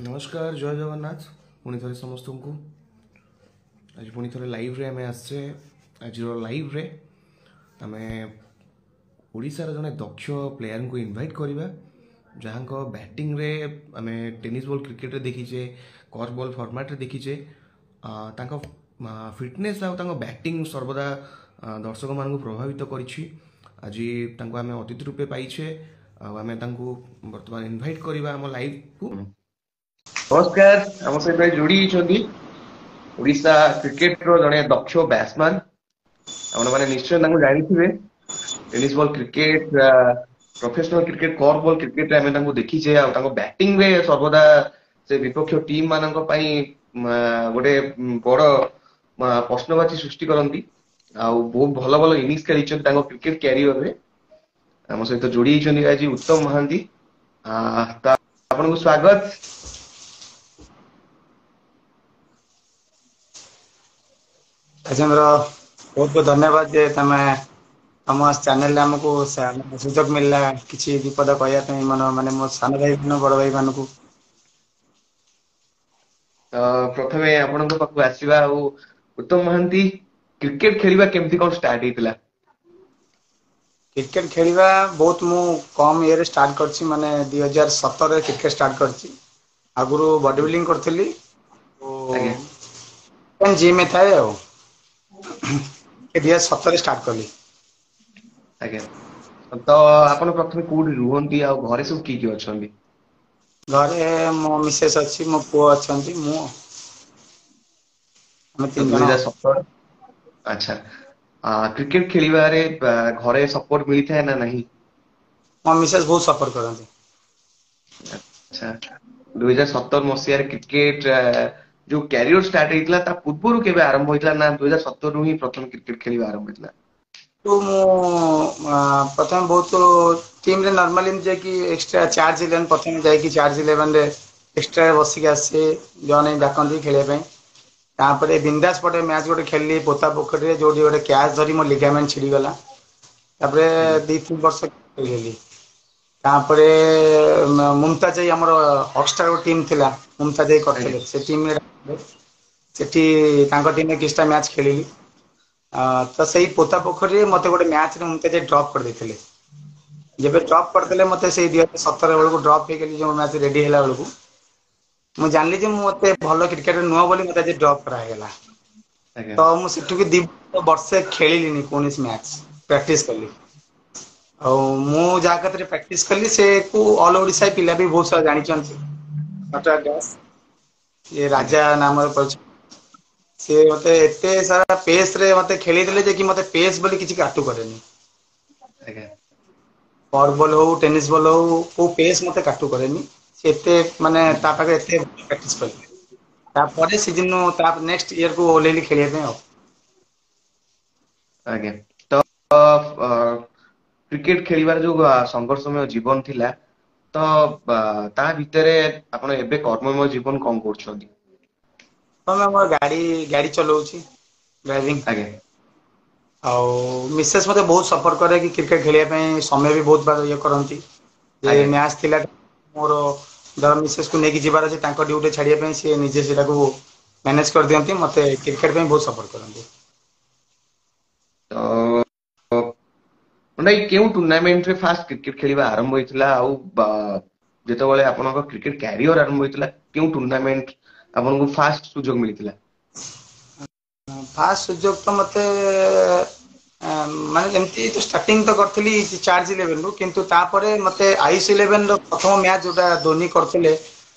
ନମସ୍କାର, ଜୟ ଜଗନ୍ନାଥ। ପୁଣି ଥରେ ସମସ୍ତଙ୍କୁ ଆଜି ପୁଣି ଥରେ ଲାଇଭ୍ରେ ଆମେ ଆସିଛେ। ଆଜିର ଲାଇଭ୍ରେ ଆମେ ଓଡ଼ିଶାର ଜଣେ ଦକ୍ଷ ପ୍ଲେୟାରଙ୍କୁ ଇନଭାଇଟ୍ କରିବା, ଯାହାଙ୍କ ବ୍ୟାଟିଂରେ ଆମେ ଟେନିସ୍ ବଲ୍ କ୍ରିକେଟରେ ଦେଖିଛେ, କର୍ଭ ବଲ୍ ଫର୍ମାଟ୍ରେ ଦେଖିଛେ। ତାଙ୍କ ଫିଟନେସ୍ ଆଉ ତାଙ୍କ ବ୍ୟାଟିଂ ସର୍ବଦା ଦର୍ଶକମାନଙ୍କୁ ପ୍ରଭାବିତ କରିଛି। ଆଜି ତାଙ୍କୁ ଆମେ ଅତିଥି ରୂପେ ପାଇଛେ ଆଉ ଆମେ ତାଙ୍କୁ ବର୍ତ୍ତମାନ ଇନଭାଇଟ୍ କରିବା ଆମ ଲାଇଭ୍କୁ। ନମସ୍କାର, ଆମ ସହିତ ଯୋଡ଼ି ହେଇଛନ୍ତି ଓଡ଼ିଶା କ୍ରିକେଟର ଜଣେ ଦକ୍ଷ ବ୍ୟାଟ୍ସମ୍ୟାନ୍। ଆପଣମାନେ ନିଶ୍ଚୟ ତାଙ୍କୁ ଜାଣିଥିବେ। Tennis ball cricket, professional cricket, curve ball କ୍ରିକେଟରେ ଆମେ ତାଙ୍କୁ ଦେଖିଛେ ଆଉ ତାଙ୍କ ବ୍ୟାଟିଂରେ ସର୍ବଦା ସେ ବିପକ୍ଷ ଟିମ୍ ମାନଙ୍କ ପାଇଁ ଗୋଟେ ବଡ ପ୍ରଶ୍ନବାଚୀ ସୃଷ୍ଟି କରନ୍ତି ଆଉ ବହୁତ ଭଲ ଭଲ ଇନିଂସ ଖେଳିଛନ୍ତି ତାଙ୍କ କ୍ରିକେଟ କ୍ୟାରିୟରରେ। ଆମ ସହିତ ଯୋଡି ହେଇଛନ୍ତି ଆଜି ଉତ୍ତମ ମହାନ୍ତି। ତ ଆପଣଙ୍କୁ ସ୍ୱାଗତ। ରାଜେନ୍ଦ୍ର, ବହୁତ ବହୁତ ଧନ୍ୟବାଦ ଯେ ତମେ ଆମ ଚ୍ୟାନେଲରେ ଆମକୁ ସୁଯୋଗ ମିଳିଲା କିଛି ବିପଦ କହିବା ପାଇଁ, ମାନେ ମୋ ସାନ ଭାଇ, ବଡ ଭାଇ ମାନଙ୍କୁ। ତ ପ୍ରଥମେ ଆପଣଙ୍କ ପାଖକୁ ଆସିବା। ଆଉ ଉତ୍ତମ ମହାନ୍ତି, କ୍ରିକେଟ ଖେଳିବା କେମିତି କଣ ଷ୍ଟାର୍ଟ ହେଇଥିଲା? କ୍ରିକେଟ ଖେଳିବା ବହୁତ ମୁଁ କମ ଇଏରେ ଷ୍ଟାର୍ଟ କରିଛି, ମାନେ 2017ରେ କ୍ରିକେଟ ଷ୍ଟାର୍ଟ କରିଛି। ଆଗରୁ ବଡି ବିଲ୍ଡିଂ କରୁଥିଲି, ଜିମ୍ ଥାଏ। ଆଉ 2017ରେ ଷ୍ଟାର୍ଟ କଲି। ଆଜ୍ଞା, ତ ଆପଣ ପ୍ରଥମେ କୋଉଠି ରୁହନ୍ତି ଆଉ ଘରେ ସବୁ କିଏ କିଏ ଅଛନ୍ତି? ଘରେ ମୋ ମିସେସ୍ ଅଛି, ମୋ ପୁଅ ଅଛନ୍ତି, ମୁଁ, ଆମେ 3 ଜଣ। 2017। ଆଚ୍ଛା, କ୍ରିକେଟ ଖେଳିବାରେ ଘରେ ସପୋର୍ଟ ମିଳିଥାଏ ନା ନାହିଁ? ମୋ ମିସେସ୍ ବହୁତ ସପୋର୍ଟ କରନ୍ତି। ଆଚ୍ଛା, 2017 ମସିହାରେ କ୍ରିକେଟ ଯୋଉ କ୍ୟାରିୟର ଷ୍ଟାର୍ଟ ହେଇଥିଲା, ତା ପୂର୍ବରୁ କେବେ ଆରମ୍ଭ ହେଇଥିଲା ନା 2017ରୁ ହିଁ ପ୍ରଥମେ କ୍ରିକେଟ ଖେଳିବା ଆରମ୍ଭ ହେଇଥିଲା? ମୁଁ ପ୍ରଥମେ ବହୁତ ଟିମରେ ନର୍ମାଲି ଯାଇକି ଏକ୍ସଟ୍ରା ଚାର୍ଜ ଇଲେଭେନ, ପ୍ରଥମେ ଯାଇକି ଚାର୍ଜ ଇଲେଭେନରେ ଏକ୍ସଟ୍ରା ବସିକି ଆସେ, ଜଣେ ଡାକନ୍ତି ଖେଳିବା ପାଇଁ। ତାପରେ ବିନ୍ଦାସ ପଟେ ମ୍ୟାଚ୍ ଗୋଟେ ଖେଳିଲି ପୋତା ପୋଖରୀରେ, ଯୋଉଠି ଗୋଟେ କ୍ୟାଚ୍ ଧରି ମୋ ଲିଗାମେଣ୍ଟ ଛିଡିଗଲା। ତାପରେ 2-3 ବର୍ଷ ଖେଳିଲି। ତାପରେ ମୁମତାଜ, ଆମର ହକଷ୍ଟାର ଗୋଟେ ଟିମ୍ ଥିଲା, ମୁମତାଜ କରିଥିଲେ, ସେ ଟିମରେ ସେଠି ତାଙ୍କ ଟିମରେ କିଛିଟା ମ୍ୟାଚ୍ ଖେଳିଲି। ତ ସେଇ ପୋତା ପୋଖରୀରେ ମତେ ଗୋଟେ ମ୍ୟାଚରେ ମୁମତାଜ ଡ୍ରପ୍ କରିଦେଇଥିଲେ। ଯେବେ ଡ୍ରପ୍ କରିଦେଲେ ମତେ ସେଇ 2017 ବେଳକୁ ଡ୍ରପ୍ ହେଇଗଲି। ଯୋଉ ମ୍ୟାଚ୍ ରେଡି ହେଲା ବେଳକୁ ମୁଁ ଜାଣିଲି ଯେ ମୁଁ ଏତେ ଭଲ କ୍ରିକେଟର ନୁହଁ ବୋଲି ମତେ ଆଜି ଡ୍ରପ୍ କରାହେଇଗଲା। ତ ମୁଁ ସେଠିକି 2 ବର୍ଷେ ଖେଳିଲିନି କୌଣସି ମ୍ୟାଚ୍, ପ୍ରାକ୍ଟିସ କଲି। ଆଉ ମୁଁ ଯାହା କତିରେ ପ୍ରାକ୍ଟିସ କଲି ସେ କୁ ଅଲ୍ ଓଡ଼ିଶା ପିଲା ବି ବହୁତ ସାରା ଜାଣିଛନ୍ତି, ନଟରାଜ ଦାସ, ଇଏ ରାଜା ନାମରେ ପରିଚିତ। ସେ ମତେ ଏତେ ସାରା ପେସ ରେ ମତେ ଖେଳିଦେଲେ ଯେ କି ମତେ ପେସ୍ ବୋଲି କିଛି କାଟୁ କରେନି। କର୍ଭ ବଲ୍ ହଉ, ଟେନିସ୍ ବଲ୍ ହଉ, କୋଉ ପେସ୍ ମତେ କାଟୁ କରେନି। ସେ ଏତେ ମାନେ ତା ପାଖରେ ଏତେ ପ୍ରାକ୍ଟିସ କଲି। ତାପରେ ସିଜନ ତା ନେକ୍ସଟ ଇୟର କୁ ଓହ୍ଲେଇଲି ଖେଳିବା ପାଇଁ। ଆଉ ଆଜ୍ଞା, ତ କ୍ରିକେଟ ଖେଳିବାର ଯୋଉ ସଂଘର୍ଷମୟ ଜୀବନ ଥିଲା, ତ ତା ଭିତରେ ଆପଣ ଏବେ କର୍ମମୟ ଜୀବନ କଣ କରୁଛନ୍ତି? ହଁ, ମୁଁ ଗାଡି ଚଲାଉଛି, ଡ୍ରାଇଭିଂ। ଆଉ ମିସେସ୍ ମତେ ବହୁତ ସପୋର୍ଟ କରେ କି କ୍ରିକେଟ ଖେଳିବା ପାଇଁ, ସମୟ ବି ବହୁତ ଇଏ କରନ୍ତି। ଯେ ମ୍ୟାଚ୍ ଥିଲା ମୋର, ଧର ମିସେସ୍ କୁ ନେଇକି ଯିବାର ଅଛି ତାଙ୍କ ଡ୍ୟୁଟି ଛାଡିବା ପାଇଁ, ସିଏ ନିଜେ ସେଟାକୁ ମ୍ୟାନେଜ କରିଦିଅନ୍ତି। ମତେ କ୍ରିକେଟ ପାଇଁ ବହୁତ ସପୋର୍ଟ କରନ୍ତି। ତ ମାନେ କେଉଁ ଟୁର୍ଣ୍ଣାମେଣ୍ଟରେ ଫାଷ୍ଟ କ୍ରିକେଟ ଖେଳିବା ଆରମ୍ଭ ହେଇଥିଲା ଆଉ ଯେତେବେଳେ ଆପଣଙ୍କ କ୍ରିକେଟ କ୍ୟାରିୟର ଆରମ୍ଭ ହେଇଥିଲା, କେଉଁ ଟୁର୍ଣ୍ଣାମେଣ୍ଟ ଆପଣଙ୍କୁ ଫାଷ୍ଟ ସୁଯୋଗ ମିଳିଥିଲା? ଫାଷ୍ଟ ସୁଯୋଗ ତ ମତେ ମାନେ ଏମିତି ତ ଷ୍ଟାର୍ଟିଂ ତ କରିଥିଲି ଚାର୍ଜ ଇଲେଭେନ ରୁ, କିନ୍ତୁ ତାପରେ ମତେ ଆୟୁଷ ଇଲେଭେନ ର ପ୍ରଥମ ମ୍ୟାଚ୍ ଯୋଉଟା ଧୋନି କରିଥିଲେ,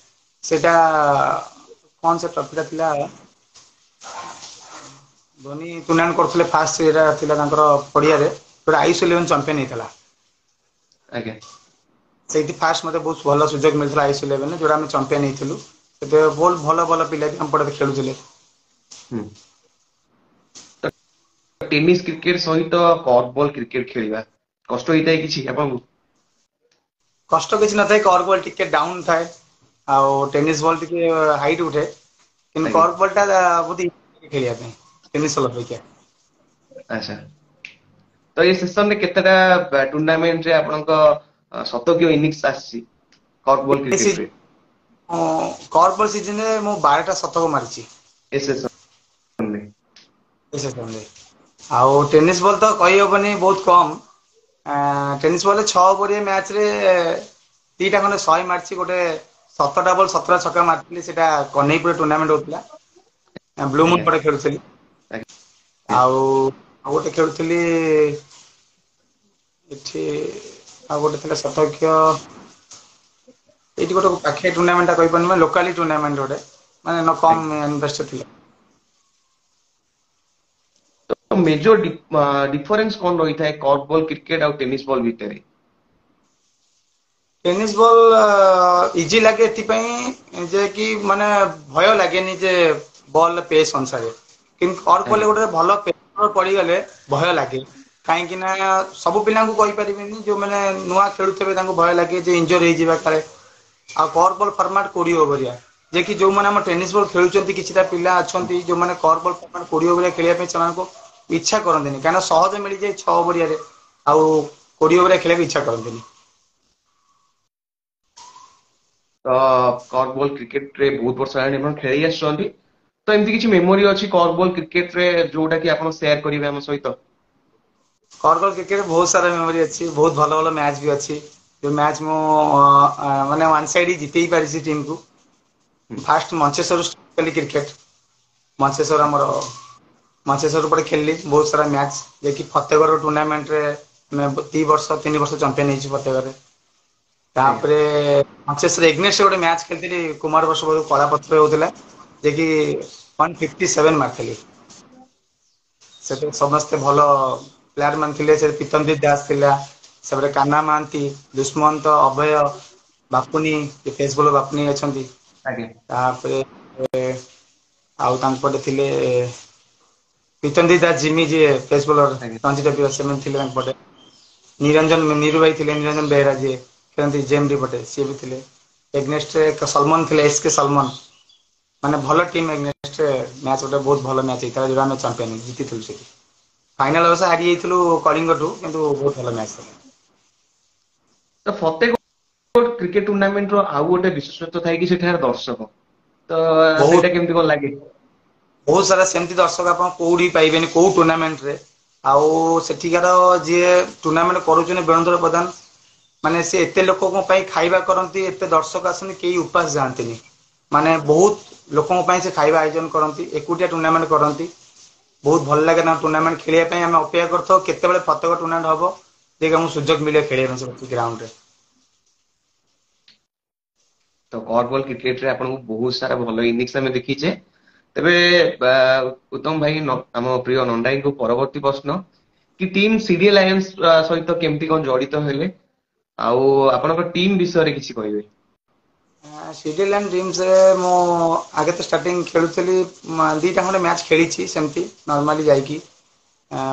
ସେଇଟା କଣ ସେ ଟ୍ରଫିଟା ଥିଲା, ଧୋନି ଟୁର୍ଣ୍ଣାମେଣ୍ଟ କରୁଥିଲେ ଫାଷ୍ଟ, ସେଇଟା ଥିଲା ତାଙ୍କର ପଡିଆରେ, ଯୋଉଟା ଆୟୁଷ ଇଲେଭେନ ଚାମ୍ପିୟନ ହେଇଥିଲା। ସେଇଠି ଫାଷ୍ଟ ମତେ ବହୁତ ଭଲ ସୁଯୋଗ ମିଳିଥିଲା ଆୟୁଷ ଇଲେଭେନ, ଯୋଉଟା ଆମେ ଚାମ୍ପିୟନ ହେଇଥିଲୁ। ସେତେବେଳେ ବହୁତ ଭଲ ଭଲ ପିଲା ବି ଆମ ପଟେ ଖେଳୁଥିଲେ। ଟେନିସ୍ କ୍ରିକେଟ ସହିତ କର୍ଭ ବଲ୍ କ୍ରିକେଟ ଖେଳିବା କଷ୍ଟ ହେଇଥାଏ କିଛି ଆପଣଙ୍କୁ? କଷ୍ଟ କିଛି ନଥାଏ, କର୍ଭ ବଲ୍ ଟିକେ ଡାଉନ ଥାଏ ଆଉ ଟେନିସ୍ ବଲ୍ ଟିକେ ହାଇଟ୍ ଉଠେ, କିନ୍ତୁ କର୍ଭ ବଲ୍ ଟା ବହୁତ ଇଜି ଖେଳିବା ପାଇଁ ଟେନିସ୍ ବଲ୍ ଅପେକ୍ଷା। ଆଚ୍ଛା, ତ ଏଇ ସେସନରେ କେତେଟା ଟୁର୍ଣ୍ଣାମେଣ୍ଟରେ ଆପଣଙ୍କ ଶତକୀୟ ଇନିଂସ ଆସିଛି କର୍ଭ ବଲ୍ କ୍ରିକେଟରେ? କର୍ପଲ ସିଜନରେ ମୁଁ 12ଟା ଶତକ ମାରିଛି। ଏ ସେସନରେ? ଆଉ ଟେନିସ୍ ବଲ୍ ତ କହିହବନି, ବହୁତ କମ୍। ଟେନିସ୍ ବଲ୍ 6 ଓଭରିଆ ମ୍ୟାଚ୍ ରେ 2ଟା ଖଣ୍ଡେ 100 ମାରିଛି। ଗୋଟେ 17ଟା ବଲ୍ 17 ଛକା ମାରିଥିଲି, ସେଇଟା କହ୍ନେଇପୁର ଟୁର୍ଣ୍ଣାମେଣ୍ଟ ହଉଥିଲା, ବ୍ଲୁମୁନ୍ ପଟେ ଖେଳୁଥିଲି। ଆଉ ଆଉ ଗୋଟେ ଖେଳୁଥିଲି ଏଠି, ଆଉ ଗୋଟେ ଥିଲା ଶତକୀୟ। ଏଇଠି ଗୋଟେ ପାଖିଆ ଟୁର୍ଣ୍ଣାମେଣ୍ଟ ଟା କହିପାରୁନି, ଲୋକାଲି ଟୁର୍ଣ୍ଣାମେଣ୍ଟ ଗୋଟେ, ମାନେ କମ୍ ଇନଭେଷ୍ଟ ଥିଲା। ତ ମେଜର ଡିଫରେନ୍ସ କଣ ରହିଥାଏ କର୍କ ବଲ୍ କ୍ରିକେଟ ଆଉ ଟେନିସ୍ ବଲ୍ ଭିତରେ? ଟେନିସ୍ ବଲ୍ ଇଜି ଲାଗେ ଏଥିପାଇଁ ଯେ କି ମାନେ ଭୟ ଲାଗେନି ଯେ ବଲ୍ ପେସ୍ ଅନୁସାରେ, କିନ୍ତୁ କର୍କ ବଲ୍ ଗୋଟେ ଭଲ ପେସର ପଡିଗଲେ ଭୟ ଲାଗେ। କାହିଁକି ନା ସବୁ ପିଲାଙ୍କୁ କହିପାରିବେନି, ଯୋଉମାନେ ନୂଆ ଖେଳୁଥିବେ ତାଙ୍କୁ ଭୟ ଲାଗେ ଯେ ଇଞ୍ଜୁରି ହେଇଯିବା କାଳେ। ଆଉ କର୍କ ବଲ୍ ଫର୍ମାଟ 20 ଓଭରିଆ, ଯେ କି ଯୋଉମାନେ ଆମ ଟେନିସ୍ ବଲ୍ ଖେଳୁଛନ୍ତି, କିଛିଟା ପିଲା ଅଛନ୍ତି ଯୋଉମାନେ କର୍କ ବଲ୍ ଫର୍ମାଟ 20 ଓଭରିଆ ଖେଳିବା ପାଇଁ ସେମାନଙ୍କୁ ଇଚ୍ଛା କରନ୍ତିନି, କାହିଁକିନା ସହଜ ମିଳିଯାଏ 6 ଓଭରିଆରେ, ଆଉ 20 ଓଭରିଆ ଖେଳିବାକୁ ଇଚ୍ଛା କରନ୍ତିନି। ତ କର୍କ ବଲ୍ କ୍ରିକେଟ ରେ ବହୁତ ବର୍ଷ ହେଲାଣି ଆପଣ ଖେଳି ଆସୁଛନ୍ତି, ତ ଏମିତି କିଛି ମେମୋରି ଅଛି କର୍କ ବଲ୍ କ୍ରିକେଟ ରେ ଯୋଉଟା କି ଆପଣ ସେୟାର କରିବେ ଆମ ସହିତ? କର୍କ ବଲ୍ କ୍ରିକେଟ ବହୁତ ସାରା ମେମୋରି ଅଛି, ବହୁତ ଭଲ ଭଲ ମ୍ୟାଚ୍ ବି ଅଛି, ଯୋଉ ମ୍ୟାଚ୍ ମୁଁ ମାନେ ୱାନ୍ ସାଇଡ୍ ଜିତେଇ ପାରିଛି ଟିମ୍ କୁ। ଫାଷ୍ଟ ମଞ୍ଚେଶ୍ୱର ଖେଳିଲି କ୍ରିକେଟ, ମଞ୍ଚେଶ୍ୱର ଆମର ମଞ୍ଚେଶ୍ୱର ପଟେ ଖେଳିଲି ବହୁତ ସାରା ମ୍ୟାଚ୍, ଯେକି ଫତେଗଡ଼ ଟୁର୍ଣ୍ଣାମେଣ୍ଟରେ 2 ବର୍ଷ 3 ବର୍ଷ ଚାମ୍ପିୟନ ହେଇଛି ଫତେଗଡ଼ରେ। ତାପରେ ମଞ୍ଚେଶ୍ୱର ଏଗନେଷ୍ଟ ଗୋଟେ ମ୍ୟାଚ୍ ଖେଳିଥିଲି, କୁମାର ବର୍ଷ କଳା ପଥର ହଉଥିଲା, ଯେ କି 157 ମାରିଥିଲି। ସେଠି ସମସ୍ତେ ଭଲ ପ୍ଲେୟାର ମାନେ ଥିଲେ, ସେ ପ୍ରୀତମଜିତ ଦାସ ଥିଲା, ସେପଟେ କାହ୍ନା ମହାନ୍ତି, ଦୁଷ୍ମନ୍ତ, ଅଭୟ, ବାପୁନି, ଫେସ୍ ବୋଲର ବାପୁନି ଅଛନ୍ତି। ତାପରେ ଆଉ ତାଙ୍କ ପଟେ ଥିଲେ ପ୍ରୀତମଜିତ ଦାସ ଜିମି, ଯିଏ ଫେସ୍ ବୋଲର ରଞ୍ଜି ଟ୍ରଫି, ସେମାନେ ଥିଲେ ତାଙ୍କ ପଟେ। ନିରଞ୍ଜନ ନିରୁ ଭାଇ ଥିଲେ, ନିରଞ୍ଜନ ବେହେରା ଯିଏ ଖେଳନ୍ତି ଜେଏମଡି ପଟେ, ସିଏ ବି ଥିଲେ। ଏଗନେଷ୍ଟରେ ସଲମନ ଥିଲେ, ଏସ୍ କେ ସଲମନ, ମାନେ ଭଲ ଟିମ୍ ଏଗନେଷ୍ଟରେ ମ୍ୟାଚ୍ ଗୋଟେ ବହୁତ ଭଲ ମ୍ୟାଚ୍ ହେଇଥିଲା, ଯୋଉଟା ଆମେ ଚାମ୍ପିୟନ ଜିତିଥିଲୁ ସେଠି। ଫାଇନାଲ ଅବଶ୍ୟ ହାରି ଯାଇଥିଲୁ କଳିଙ୍ଗଠୁ, କିନ୍ତୁ ବହୁତ ଭଲ ମ୍ୟାଚ୍ ଥିଲା। ତ ଫତେଗଡ଼ କ୍ରିକେଟ ଟୁର୍ଣ୍ଣାମେଣ୍ଟ ର ଆଉ ଗୋଟେ ବିଶେଷତ୍ୱ ଥାଏ କି ସେଠାରେ ଦର୍ଶକ, ତ ସେଇଟା କେମିତି କଣ ଲାଗେ? ବହୁତ ସାରା ସେମିତି ଦର୍ଶକ ଆପଣ କୋଉଠି ପାଇବେନି କୋଉ ଟୁର୍ଣ୍ଣାମେଣ୍ଟରେ। ଆଉ ସେଠିକାର ଯିଏ ଟୁର୍ଣ୍ଣାମେଣ୍ଟ କରୁଛନ୍ତି ବେଣୁଧର ପ୍ରଧାନ, ମାନେ ସେ ଏତେ ଲୋକଙ୍କ ପାଇଁ ଖାଇବା କରନ୍ତି, ଏତେ ଦର୍ଶକ ଆସନ୍ତି, କେହି ଉପାସ ଯାଆନ୍ତିନି, ମାନେ ବହୁତ ଲୋକଙ୍କ ପାଇଁ ସେ ଖାଇବା ଆୟୋଜନ କରନ୍ତି, ଏକୁଟିଆ ଟୁର୍ଣ୍ଣାମେଣ୍ଟ କରନ୍ତି। ବହୁତ ଭଲ ଲାଗେ ତାଙ୍କ ଟୁର୍ଣ୍ଣାମେଣ୍ଟ ଖେଳିବା ପାଇଁ। ଆମେ ଅପେକ୍ଷା କରିଥାଉ କେତେବେଳେ ଫତେଗଡ଼ ଟୁର୍ଣ୍ଣାମେଣ୍ଟ ହବ, ଯେ ଆମକୁ ସୁଯୋଗ ମିଳିବ ଖେଳିବା ପାଇଁ ସେ ଗ୍ରାଉଣ୍ଡରେ। ତ କର୍କ ବଲ୍ କ୍ରିକେଟରେ ଆପଣଙ୍କୁ ବହୁତ ସାରା ଭଲ ଇନିଂସ ଆମେ ଦେଖିଛେ। ତେବେ ଉତ୍ତମ ଭାଇ, ଆମ ପ୍ରିୟ ନଣ୍ଡାଇଙ୍କୁ ପରବର୍ତ୍ତୀ ପ୍ରଶ୍ନ କି ଟିମ୍ ସିଡିଏ ଲାୟନ୍ସ ସହିତ କେମିତି କଣ ଜଡିତ ହେଲେ ଆଉ ଆପଣଙ୍କ ଟିମ୍ ବିଷୟରେ କିଛି କହିବେ? ସିଡିଏ ଲାୟନ୍ସ ଟିମ୍ସରେ ମୁଁ ଆଗେ ତ ଷ୍ଟାର୍ଟିଂ ଖେଳୁଥିଲି, 2ଟା ଖଣ୍ଡେ ମ୍ୟାଚ୍ ଖେଳିଛି ସେମିତି ନର୍ମାଲି ଯାଇକି,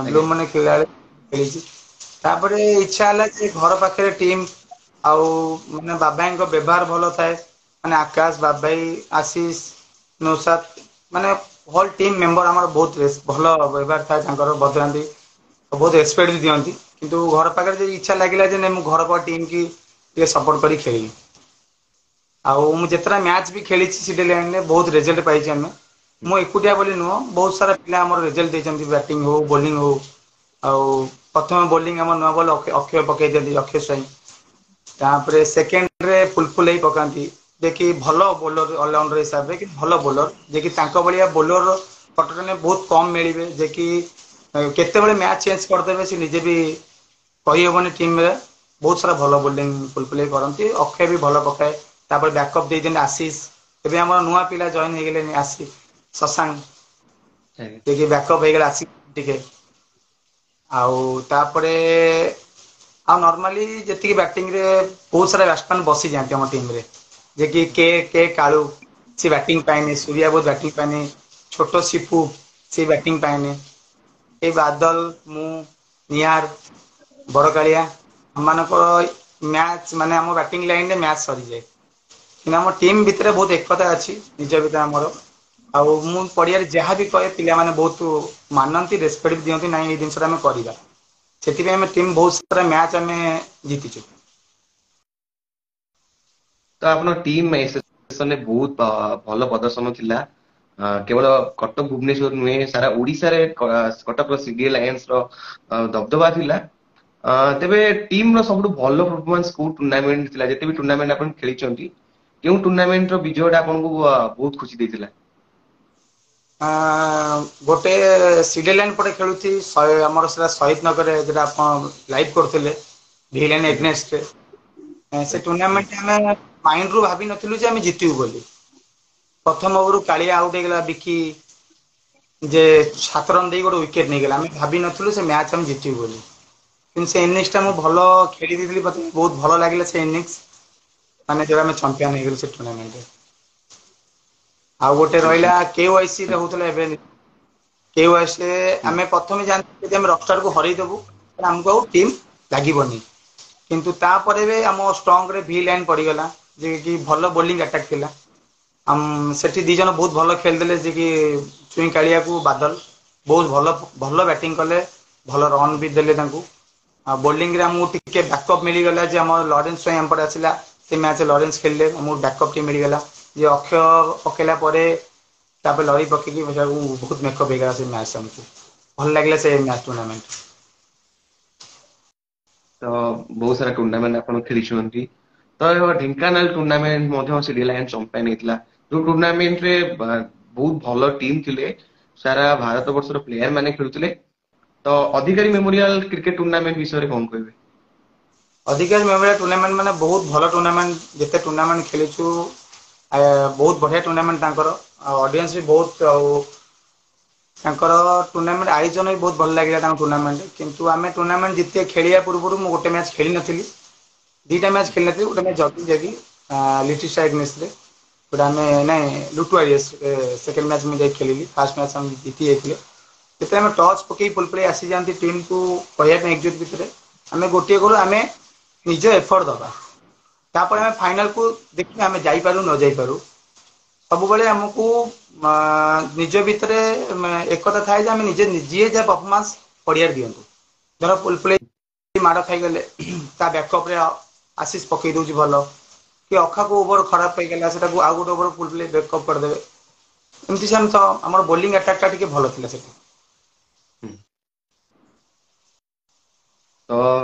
ବ୍ଲୁ ମାନେ ଖେଳିଲା ବେଳେ ଖେଳିଛି। ତାପରେ ଇଚ୍ଛା ହେଲା ଯେ ଘର ପାଖରେ ଟିମ୍, ଆଉ ମାନେ ବାବାଙ୍କ ବ୍ୟବହାର ଭଲ ଥାଏ, ମାନେ ଆକାଶ, ବାବାଇ, ଆଶିଷ, ନୌସାଦ, ମାନେ ଅଲ୍ ଟିମ୍ ମେମ୍ବର ଆମର ବହୁତ ଭଲ ବ୍ୟବହାର ଥାଏ ତାଙ୍କର, ବଦଳାନ୍ତି, ବହୁତ ରେସପେକ୍ଟ ବି ଦିଅନ୍ତି। କିନ୍ତୁ ଘର ପାଖରେ ଯଦି ଇଚ୍ଛା ଲାଗିଲା ଯେ ନାଇଁ ମୁଁ ଘର ପାଖ ଟିମ୍ କି ଟିକେ ସପୋର୍ଟ କରି ଖେଳିବି। ଆଉ ମୁଁ ଯେତେଟା ମ୍ୟାଚ୍ ବି ଖେଳିଛି ସିଡିଏ ଲାଇନ୍ରେ ବହୁତ ରେଜଲ୍ଟ ପାଇଛି ଆମେ। ମୁଁ ଏକୁଟିଆ ବୋଲି ନୁହଁ, ବହୁତ ସାରା ପିଲା ଆମର ରେଜଲ୍ଟ ଦେଇଛନ୍ତି, ବ୍ୟାଟିଂ ହଉ ବୋଲିଂ ହଉ। ଆଉ ପ୍ରଥମେ ବୋଲିଂ ଆମର ନୂଆ ବଲ୍ ଅକ୍ଷୟ ପକେଇ ଦିଅନ୍ତି, ଅକ୍ଷୟ ସ୍ୱାଇଁ। ତାପରେ ସେକେଣ୍ଡରେ ଫୁଲଫୁଲ ହେଇ ପକାନ୍ତି, ଯେ କି ଭଲ ବୋଲର ଅଲରାଉଣ୍ଡର ହିସାବରେ, କି ଭଲ ବୋଲର, ଯେ କି ତାଙ୍କ ଭଳିଆ ବୋଲର କଟକରେ ବହୁତ କମ୍ ମିଳିବେ, ଯେ କି କେତେବେଳେ ମ୍ୟାଚ୍ ଚେଞ୍ଜ କରିଦେବେ ସେ ନିଜେ ବି କହିହେବନି ଟିମ୍ରେ। ବହୁତ ସାରା ଭଲ ବୋଲିଂ ଫୁଲଫୁଲ ହେଇ କରନ୍ତି, ଅକ୍ଷୟ ବି ଭଲ ପକାଏ। ତାପରେ ବ୍ୟାକଅପ୍ ଦେଇଛନ୍ତି ଆଶିଷ, ଏବେ ଆମର ନୂଆ ପିଲା ଜଏନ୍ ହେଇଗଲେଣି ଆଶିଷ, ଶଶାଙ୍କ, ଟିକେ ବ୍ୟାକଅପ୍ ହେଇଗଲା ଆଶିଷ ଟିକେ। ଆଉ ତାପରେ ଆଉ ନର୍ମାଲି ଯେତିକି ବ୍ୟାଟିଂରେ ବହୁତ ସାରା ବ୍ୟାଟ୍ସମ୍ୟାନ୍ ବସିଯାଆନ୍ତି ଆମ ଟିମ୍ରେ, ଯେ କି କେ କେ କାଳୁ ସେ ବ୍ୟାଟିଂ ପାଏନି, ସୂର୍ୟା ବହୁତ ବ୍ୟାଟିଂ ପାଏନି, ଛୋଟ ସିପୁ ସେ ବ୍ୟାଟିଂ ପାଏନି, ଏ ବାଦଲ, ମୁଁ, ନିହାର, ବଡ଼କାଳିଆ, ଆମମାନଙ୍କର ମ୍ୟାଚ୍ ମାନେ ଆମ ବ୍ୟାଟିଂ ଲାଇନ୍ରେ ମ୍ୟାଚ୍ ସରିଯାଏ। କିନ୍ତୁ ଆମ ଟିମ୍ ଭିତରେ ବହୁତ ଏକତା ଅଛି ନିଜ ଭିତରେ ଆମର। ଆଉ ମୁଁ ପଡ଼ିଆରେ ଯାହା ବି କହେ ପିଲାମାନେ ବହୁତ ମାନନ୍ତି, ରେସପେକ୍ଟ ବି ଦିଅନ୍ତି, ନାଇଁ ଏଇ ଜିନିଷଟା ଆମେ କରିବା। ସେଥିପାଇଁ ଆମେ ଟିମ୍ ବହୁତ ସାରା ମ୍ୟାଚ୍ ଆମେ ଜିତିଛୁ। ତ ଆପଣ ଟିମ୍ ଏସ୍ ସେକ୍ସନରେ ବହୁତ ଭଲ ପ୍ରଦର୍ଶନ ଥିଲା। କେବଳ କଟକ ଭୁବନେଶ୍ୱର ନୁହେଁ, ସାରା ଓଡିଶାରେ କଟକର ସିଡିଏ ଲାୟନ୍ସ ର ଦବଦବା ଥିଲା। ତେବେ ଟିମ ର ସବୁଠୁ ଭଲ ପରଫର୍ମାନ୍ସ କୋଉ ଟୁର୍ଣ୍ଣାମେଣ୍ଟ ଥିଲା? ଯେତେ ବି ଟୁର୍ଣ୍ଣାମେଣ୍ଟ ଆପଣ ଖେଳିଛନ୍ତି, କେଉଁ ଟୁର୍ଣ୍ଣାମେଣ୍ଟ ର ବିଜୟ ଟା ଆପଣଙ୍କୁ ବହୁତ ଖୁସି ଦେଇଥିଲା? ଗୋଟେ ସିଡି ଲାଇନ ପଟେ ଖେଳୁଛି ଆମର ସେଟା ଶହୀଦ ନଗରରେ, ଯୋଉଟା ଆପଣ ଲାଇଭ୍ କରୁଥିଲେ ଭିଲେନ ଏଗନେଷ୍ଟରେ। ସେ ଟୁର୍ଣ୍ଣାମେଣ୍ଟ ଆମେ ମାଇଣ୍ଡ ରୁ ଭାବି ନଥିଲୁ ଯେ ଆମେ ଜିତିବୁ ବୋଲି। ପ୍ରଥମ ଓଭରରୁ କାଳିଆ ଆଉଟ ହେଇଗଲା, ବିକି ଯେ 7 ରନ ଦେଇ ଗୋଟେ ୱିକେଟ ନେଇଗଲା। ଆମେ ଭାବିନଥିଲୁ ସେ ମ୍ୟାଚ ଆମେ ଜିତିବୁ ବୋଲି, କିନ୍ତୁ ସେ ଇନିଂସ ଟା ମୁଁ ଭଲ ଖେଳି ଦେଇଥିଲି। ମତେ ବହୁତ ଭଲ ଲାଗିଲା ସେ ଇନିଂସ, ମାନେ ଯୋଉ ଆମେ ଚାମ୍ପିୟନ ହେଇଗଲୁ ସେ ଟୁର୍ଣ୍ଣାମେଣ୍ଟରେ। ଆଉ ଗୋଟେ ରହିଲା କେୱାଇସି ରେ ହଉଥିଲା ଏବେ। କେୱାଇସି ରେ ଆମେ ପ୍ରଥମେ ଜାଣିଥିଲୁ ଯଦି ଆମେ ରକଷ୍ଟାର କୁ ହରେଇଦବୁ, ଆମକୁ ଆଉ ଟିମ୍ ଲାଗିବନି। କିନ୍ତୁ ତାପରେ ବି ଆମ ଷ୍ଟ୍ରଙ୍ଗ ରେ ଭି ଲାଇନ ପଡିଗଲା, ଯେ କି ଭଲ ବୋଲିଂ ଆଟାକ୍ ଥିଲା। ସେଠି ଦି ଜଣ ବହୁତ ଭଲ ଖେଳିଦେଲେ, ଯେ କି ଚୁଇଁ କାଳିଆକୁ ବାଦଲ ବହୁତ ଭଲ ଭଲ ବ୍ୟାଟିଂ କଲେ, ଭଲ ରନ୍ ବି ଦେଲେ ତାଙ୍କୁ। ଆଉ ବୋଲିଂ ରେ ଆମକୁ ଟିକେ ବ୍ୟାକଅପ୍ ମିଳିଗଲା ଯେ ଆମର ଲରେନ୍ସ ସ୍ୱାଇଁ ଆମ ପଟେ ଆସିଲା। ସେ ମ୍ୟାଚ ଲରେନ୍ସ ଖେଳିଲେ, ଆମକୁ ବ୍ୟାକଅପ୍ ଟିକେ ମିଳିଗଲା ଯେ ଅକ୍ଷୟ ପକେଇଲା ପରେ ତାପରେ ଲରି ପକେଇକି ବହୁତ ମେକଅପ୍ ହେଇଗଲା ସେ ମ୍ୟାଚ ଆମକୁ ଭଲ ଲାଗିଲା ସେ ମ୍ୟାଚ ଟୁର୍ଣ୍ଣାମେଣ୍ଟ। ତ ବହୁତ ସାରା ଟୁର୍ଣ୍ଣାମେଣ୍ଟ ଆପଣ ଖେଳିଛନ୍ତି। ତ ଢେଙ୍କାନାଳ ଟୁର୍ଣ୍ଣାମେଣ୍ଟ ମଧ୍ୟ ସିଡି ଲାୟନ୍ସ ଚାମ୍ପିୟନ ହେଇଥିଲା, ଯୋଉ ଟୁର୍ଣ୍ଣାମେଣ୍ଟରେ ବହୁତ ଭଲ ଟିମ୍ ଥିଲେ, ସାରା ଭାରତ ବର୍ଷର ପ୍ଲେୟାର ମାନେ ଖେଳୁଥିଲେ। ତ ଅଧିକାରୀ ମେମୋରିଆଲ କ୍ରିକେଟ ଟୁର୍ଣ୍ଣାମେଣ୍ଟ ବିଷୟରେ କଣ କହିବେ? ଅଧିକାରୀ ମେମୋରିଆଲ ଟୁର୍ଣ୍ଣାମେଣ୍ଟ ମାନେ ବହୁତ ଭଲ ଟୁର୍ଣ୍ଣାମେଣ୍ଟ। ଯେତେ ଟୁର୍ଣ୍ଣାମେଣ୍ଟ ଖେଳିଛୁ, ବହୁତ ବଢିଆ ଟୁର୍ଣ୍ଣାମେଣ୍ଟ ତାଙ୍କର। ଆଉ ଅଡିଏନ୍ସ ବି ବହୁତ, ଆଉ ତାଙ୍କର ଟୁର୍ଣ୍ଣାମେଣ୍ଟ ଆୟୋଜନ ବି ବହୁତ ଭଲ ଲାଗିଲା ତାଙ୍କ ଟୁର୍ଣ୍ଣାମେଣ୍ଟ। କିନ୍ତୁ ଆମେ ଟୁର୍ଣ୍ଣାମେଣ୍ଟ ଜିତେ ଖେଳିବା ପୂର୍ବରୁ ମୁଁ ଗୋଟେ ମ୍ୟାଚ୍ ଖେଳି ନଥିଲି, ଦିଟା ମ୍ୟାଚ୍ ଖେଳି ନଥିଲି। ଗୋଟେ ମ୍ୟାଚ୍ ଜଗି ଜଗି ଲିଟିଲ ଗୋଟେ ଆମେ ନାଇଁ ଲୁଟୁ ସେକେଣ୍ଡ ମ୍ୟାଚ୍ ମୁଁ ଯାଇ ଖେଳିଲି। ଫାର୍ଷ୍ଟ ମ୍ୟାଚ୍ ଆମେ ଜିତି ଯାଇଥିଲେ। ଯେତେବେଳେ ଆମେ ଟଚ୍ ପକେଇ ଫୁଲ ପ୍ଲେ ଆସିଯାଆନ୍ତି ଟିମ୍କୁ କହିବା ପାଇଁ ଏକଜୁଟ ଭିତରେ ଆମେ ଗୋଟିଏ କରୁ, ଆମେ ନିଜ ଏଫର୍ଟ ଦବା। ତାପରେ ଆମେ ଫାଇନାଲକୁ ଦେଖିବା, ଆମେ ଯାଇପାରୁ ନ ଯାଇପାରୁ। ସବୁବେଳେ ଆମକୁ ନିଜ ଭିତରେ ଏକତା ଥାଏ ଯେ ଆମେ ନିଜେ ଯିଏ ଯାହା ପରଫର୍ମାନ୍ସ ପଡ଼ିଆରେ ଦିଅନ୍ତୁ। ଧର ଫୁଲ ପ୍ଲେ ମାଡ଼ ଖାଇଗଲେ ତା ବ୍ୟାକଅପରେ ଆଶିଷ ପକେଇ ଦଉଛି ଭଲ, କି ଅଖାକୁ ଓଭର ଖରାପ ହେଇଗଲା, ସେଟାକୁ ଆଉ ଗୋଟେ ଓଭର ଫୁଲ ପ୍ଲେ ବ୍ୟାକଅପ୍ କରିଦେବେ। ଏମିତି ସେମିତି ତ ଆମର ବୋଲିଂ ଆଟାକ୍ ଟା ଟିକେ ଭଲ ଥିଲା ସେଠି। ତ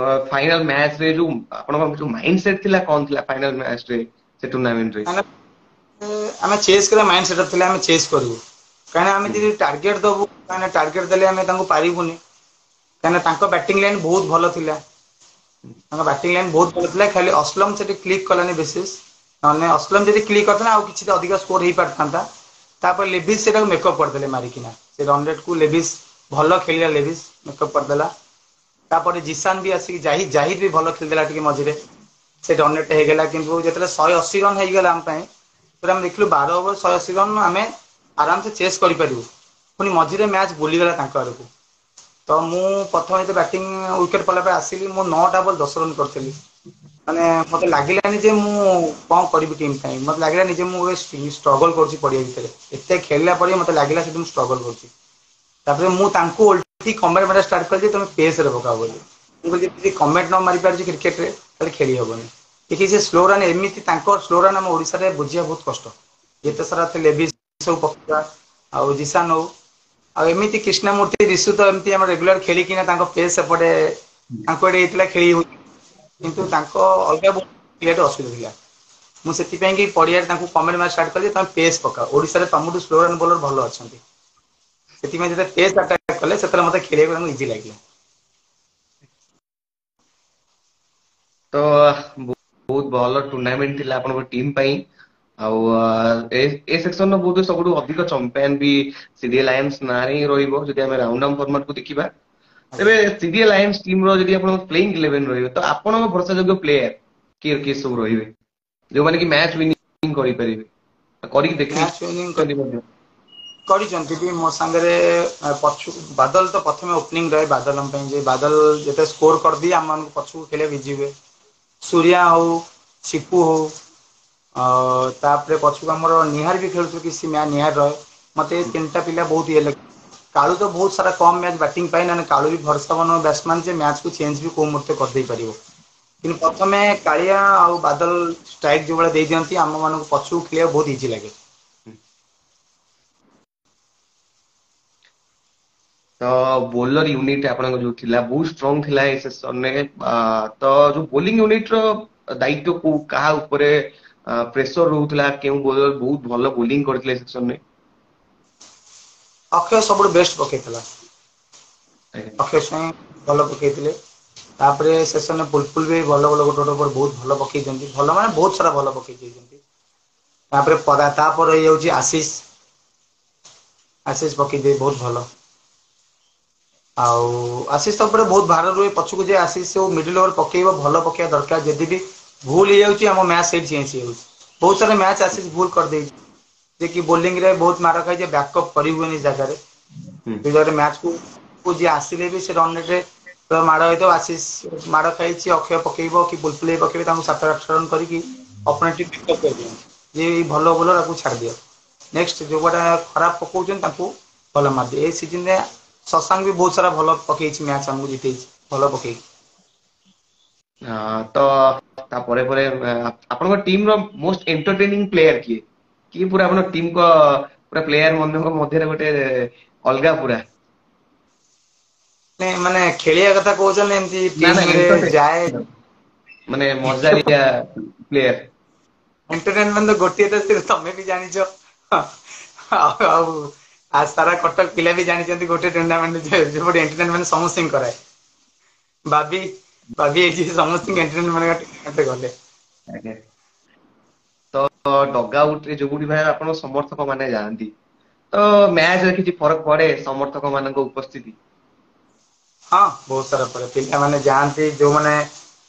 ଫାଇନାଲ ମ୍ୟାଚ୍ ରେ ଯୋଉ ଆପଣଙ୍କ ଯୋଉ ମାଇଣ୍ଡ ସେଟ୍ ଥିଲା, କଣ ଥିଲା ଫାଇନାଲ ମ୍ୟାଚ୍ ରେ, ସେ ଟୁର୍ଣ୍ଣାମେଣ୍ଟ ରେ? ଆମେ ଚେସ୍ କରିବା ମାଇଣ୍ଡ ସେଟଅପ୍ ଥିଲା, ଆମେ ଚେସ୍ କରିବୁ। କାହିଁକିନା ଆମେ ଯଦି ଟାର୍ଗେଟ ଦବୁ, କାହିଁକିନା ଟାର୍ଗେଟ ଦେଲେ ଆମେ ତାଙ୍କୁ ପାରିବୁନି, କାହିଁକିନା ତାଙ୍କ ବ୍ୟାଟିଂ ଲାଇନ ବହୁତ ଭଲ ଥିଲା। ତାଙ୍କ ବ୍ୟାଟିଂ ଲାଇନ ବହୁତ ଭଲ ଥିଲା। ଖାଲି ଅସଲମ ସେଠି କ୍ଲିକ୍ କଲାନି ବିଶେଷ, ନହେଲେ ଅସଲମ ଯଦି କ୍ଲିକ୍ କରିଥାନ୍ତା ଆଉ କିଛି ଅଧିକ ସ୍କୋର ହେଇପାରିଥାନ୍ତା। ତାପରେ ଲେଭିସ୍ ସେଟାକୁ ମେକଅପ୍ କରିଦେଲେ ମାରିକିନା, ସେ ରନ୍ ରେଟ୍ କୁ ଲେଭିସ୍ ଭଲ ଖେଳିଲା, ଲେଭିସ୍ ମେକଅପ୍ କରିଦେଲା। ତାପରେ ଜିସାନ ବି ଆସିକି ଜାହିଦ ବି ଭଲ ଖେଳିଦେଲା ଟିକେ ମଝିରେ, ସେ ରନ୍ ରେଟ୍ ହେଇଗଲା। କିନ୍ତୁ ଯେତେବେଳେ 180 ରନ୍ ହେଇଗଲା ଆମ ପାଇଁ, ସେତେବେଳେ ଆମେ ଦେଖିଲୁ 12 ଓଭର 180 ରନ୍ ଆମେ ଆରାମସେ ଚେସ୍ କରିପାରିବୁ। ପୁଣି ମଝିରେ ମ୍ୟାଚ୍ ବୁଲିଗଲା ତାଙ୍କ ଆଡ଼କୁ। ତ ମୁଁ ପ୍ରଥମେ ଯେତେ ବ୍ୟାଟିଂ ୱିକେଟ୍ ପଡ଼ିଲା ପରେ ଆସିଲି, ମୁଁ 9ଟା ବଲ୍ 10 ରନ୍ କରିଥିଲି। ମାନେ ମତେ ଲାଗିଲାନି ଯେ ମୁଁ କଣ କରିବି ଟିମ୍ ପାଇଁ। ମତେ ଲାଗିଲାନି ଯେ ମୁଁ ଷ୍ଟ୍ରଗଲ କରୁଛି ପଡ଼ିଆ ଭିତରେ। ଏତେ ଖେଳିଲା ପରେ ମତେ ଲାଗିଲା ସେଠି ମୁଁ ଷ୍ଟ୍ରଗଲ କରୁଛି। ତାପରେ ମୁଁ ତାଙ୍କୁ ଓଲଟି କମେଣ୍ଟ ମାରିବା ଷ୍ଟାର୍ଟ କଲି ଯେ ତମେ ପେସ୍ରେ ପକାଅ ବୋଲି। ମୁଁ କହିଲି ଯଦି କମେଣ୍ଟ ନ ମାରି ପାରୁଛି କ୍ରିକେଟରେ ତାହେଲେ ଖେଳି ହବନି। ଦେଖି ସେ ସ୍ଲୋ ରନ୍, ଏମିତି ତାଙ୍କ ସ୍ଲୋ ରନ୍ ଆମ ଓଡ଼ିଶାରେ ବୁଝିବା ବହୁତ କଷ୍ଟ। ଯେତେ ସାରା ଲେଭିସ୍ ସବୁ ପକେଇବା ଆଉ ଜିସାନ ହଉ ଆଉ ଏମିତି କୃଷ୍ଣମୂର୍ତ୍ତି ରିଷୁ ତ ଏମିତି ଆମର ରେଗୁଲାର ଖେଳିକିନା ତାଙ୍କ ପେସ୍ ସେପଟେ ତାଙ୍କ ଏଡେ ହେଇଥିଲା ଖେଳି ହଉଛି, କିନ୍ତୁ ତାଙ୍କ ଅଲଗା ଖେଳିବାଟା ଅସୁବିଧା ଥିଲା। ମୁଁ ସେଥିପାଇଁ କି ପଡ଼ିଆରେ ତାଙ୍କୁ କମେଣ୍ଟ ମାରିବା ଷ୍ଟାର୍ଟ କଲି, ତମେ ପେସ୍ ପକାଅ, ଓଡ଼ିଶାରେ ତମଠୁ ସ୍ଲୋ ରନ୍ ବୋଲର ଭଲ ଅଛନ୍ତି। ସେଥିପାଇଁ ଯେତେବେଳେ ପେସ୍ ଆଟାକ୍ କଲେ ସେତେବେଳେ ମତେ ଖେଳିବାକୁ ତାଙ୍କୁ ଇଜି ଲାଗିଲା। ତ ବହୁତ ଭଲ ଟୁର୍ଣ୍ଣାମେଣ୍ଟ ଥିଲା ଆପଣଙ୍କ ଟିମ୍ ପାଇଁ। ଆଉ ଏ ସେକ୍ସନ ର ବହୁତ ସବୁଠୁ ଅଧିକ ଚାମ୍ପିୟନ ବି ସିଡିଏ ଲାୟନ୍ସ ନାଁରେ ହିଁ ରହିବ ଯଦି ଆମେ ରାଉଣ୍ଡ ଅନ୍ ଫର୍ମାଟ କୁ ଦେଖିବା। ତେବେ ସିଡିଏ ଲାୟନ୍ସ ଟିମ୍ ର ଯଦି ଆପଣଙ୍କ ପ୍ଲେଇଂ 11 ରହିବ, ତ ଆପଣଙ୍କ ଭରସା ଯୋଗ୍ୟ ପ୍ଲେୟାର କିଏ କିଏ ସବୁ ରହିବେ, ଯୋଉମାନେ କି ମ୍ୟାଚ୍ ୱିନିଂ କରିପାରିବେ, କରିକି ମ୍ୟାଚ୍ ୱିନିଂ ଦେଖେଇଛନ୍ତି ମଧ୍ୟ? କରିଛନ୍ତି ବି ମୋ ସାଙ୍ଗରେ। ପଛୁ ବାଦଲ ତ ପ୍ରଥମେ ଓପନିଂ ରହେ ବାଦଲ ଆମ ପାଇଁ, ଯେ ବାଦଲ ଯେତେ ସ୍କୋର କରିଦିଏ ଆମମାନଙ୍କୁ ପଛକୁ ଖେଳିବାକୁ ଇଜି ହୁଏ। ସୂର୍ୟା ହଉ, ସିପୁ ହଉ, ଆଉ ତାପରେ ପଛକୁ ଆମର ନିହାର ବି ଖେଳୁଥିଲୁ କିଛି ମ୍ୟାଚ୍ ନିହାର ରହେ। ମତେ ଏ ତିନିଟା ପିଲା ବହୁତ ଇଏ ଲାଗେ। କାଳୁ ତ ବହୁତ ସାରା କମ୍ ମ୍ୟାଚ୍ ବ୍ୟାଟିଂ ପାଏ, ନହେଲେ କାଳୁ ବି ଭରସା ବନ ବ୍ୟାଟ୍ସମ୍ୟାନ୍, ଯେ ମ୍ୟାଚ୍କୁ ଚେଞ୍ଜ ବି କୋଉ ମୁହୂର୍ତ୍ତେ କରିଦେଇ ପାରିବ। କିନ୍ତୁ ପ୍ରଥମେ କାଳିଆ ଆଉ ବାଦଲ ଷ୍ଟ୍ରାଇକ୍ ଯୋଉ ଭଳିଆ ଦେଇ ଦିଅନ୍ତି, ଆମ ମାନଙ୍କୁ ପଛକୁ ଖେଳିବାକୁ ବହୁତ ଇଜି ଲାଗେ। ତ ବୋଲର ୟୁନିଟ୍ ଆପଣଙ୍କ ଯୋଉ ଥିଲା ବହୁତ ଷ୍ଟ୍ରଙ୍ଗ ଥିଲା ଏ ସେସନରେ। ତ ଯୋଉ ବୋଲିଂ ୟୁନିଟ୍ ର ଦାୟିତ୍ୱ କୋଉ କାହା ଉପରେ ପ୍ରେସର ରହୁଥିଲା, କେଉଁ ବୋଲର ବହୁତ ଭଲ ବୋଲିଂ କରିଥିଲେ ସେସନରେ? ଅକ୍ଷୟ ସବୁଠୁ ବେଷ୍ଟ ପକେଇଥିଲା। ଅକ୍ଷୟ ସ୍ୱାଇଁ ଭଲ ପକେଇଥିଲେ। ତାପରେ ସେସନରେ ବୁଲବୁଲ ବି ଭଲ ଭଲ ଗୋଟେ ଗୋଟେ ଓଭର ବହୁତ ଭଲ ପକେଇଛନ୍ତି, ଭଲ ମାନେ ବହୁତ ସାରା ଭଲ ପକେଇ ଦେଇଛନ୍ତି। ତାପରେ ପରା ତାପରେ ହେଇଯାଉଛି ଆଶିଷ। ଆଶିଷ ପକେଇଦିଏ ବହୁତ ଭଲ। ଆଉ ଆଶିଷ ଉପରେ ବହୁତ ଭାର ରୁହେ ପଛକୁ ଯେ ଆଶିଷ ମିଡିଲ ଓଭର ପକେଇବ ଭଲ ପକେଇବା ଦରକାର। ଯଦି ବି ଭୁଲ ହେଇଯାଉଛି ଆମ ମ୍ୟାଚ ସେଇଠି ଚେଞ୍ଜ ହେଇଯାଉଛି। ବହୁତ ସାରା ମ୍ୟାଚ ଆଶିଷ ଭୁଲ କରିଦେଇଛି, ଯେ କି ବୋଲିଂ ରେ ବହୁତ ମାଡ଼ ଖାଇଛି, ବ୍ୟାକଅପ୍ କରିହୁଏନି ସେ ଜାଗାରେ। ସେ ଜାଗାରେ ମ୍ୟାଚକୁ ଯିଏ ଆସିଲେ ବି ସେ ରନ ରେ ମାଡ଼ ହେଇଥିବ, ଆଶିଷ ମାଡ଼ ଖାଇଛି ଅକ୍ଷୟ ପକେଇବ କି ବୁଲବୁଲି ଭାଇ ପକେଇବେ ତାଙ୍କୁ 7 8 ରନ୍ କରିକି ଯେ ଭଲ ବୋଲର ଆକୁ ଛାଡିଦିଅ। ନେକ୍ସଟ ଯୋଉଗୁଡ଼ା ଖରାପ ପକଉଛନ୍ତି ତାଙ୍କୁ ଭଲ ମାରିଦିଏ। ଏ ସିଜନରେ ଶଶାଙ୍କ ବି ବହୁତ ସାରା ଭଲ ପକେଇଛି ମ୍ୟାଚ ଆମକୁ ଜିତେଇଛି ଭଲ ପକେଇଛି। ତ ତାପରେ ପରେ ଆପଣଙ୍କ ଟିମ ର ମୋଷ୍ଟ ଏଣ୍ଟରଟେନିଂ ପ୍ଲେୟାର କିଏ? କିଏ ପୁରା ଆପଣଙ୍କ ଟିମ କ ପୁରା ପ୍ଲେୟାର ମାନଙ୍କ ମଧ୍ୟରେ ଗୋଟେ ଅଲଗା ପୁରା? ନାଇଁ ମାନେ ଖେଳିବା କଥା କହୁଛନ୍ତି ଏମିତି ନା ନା ଟିମ ରେ ଯାଏ ମାନେ ମଜାଳିଆ ପ୍ଲେୟାର। ଏଣ୍ଟରଟେନମେଣ୍ଟ ଗୋଟିଏ ତ ତମେ ବି ଜାଣିଛ। ଆଉ ଆଉ ସାରା କଟକ ପିଲା ବି ଜାଣିଛନ୍ତି ଗୋଟେ ଟୁର୍ଣ୍ଣାମେଣ୍ଟ ଏଣ୍ଟରଟେନମେଣ୍ଟ ସମସ୍ତଙ୍କୁ କରାଏ। ବାବି ବାବି ଏଇଠି ସମସ୍ତଙ୍କୁ ଏଣ୍ଟରଟେନମେଣ୍ଟ ଗଲେ। ଆଜ୍ଞା। ତ ଡଗ୍ ଆଉଟ ରେ ଯୋଉଠି ଭାଇ ଆପଣ ସମର୍ଥକ ମାନେ ଯାଆନ୍ତି, ତ ମ୍ୟାଚରେ କିଛି ଫରକ ପଡେ ସମର୍ଥକ ମାନଙ୍କ ଉପସ୍ଥିତି? ହଁ ବହୁତ ସାରା ପଡେ। ପିଲାମାନେ ଯାଆନ୍ତି ଯୋଉମାନେ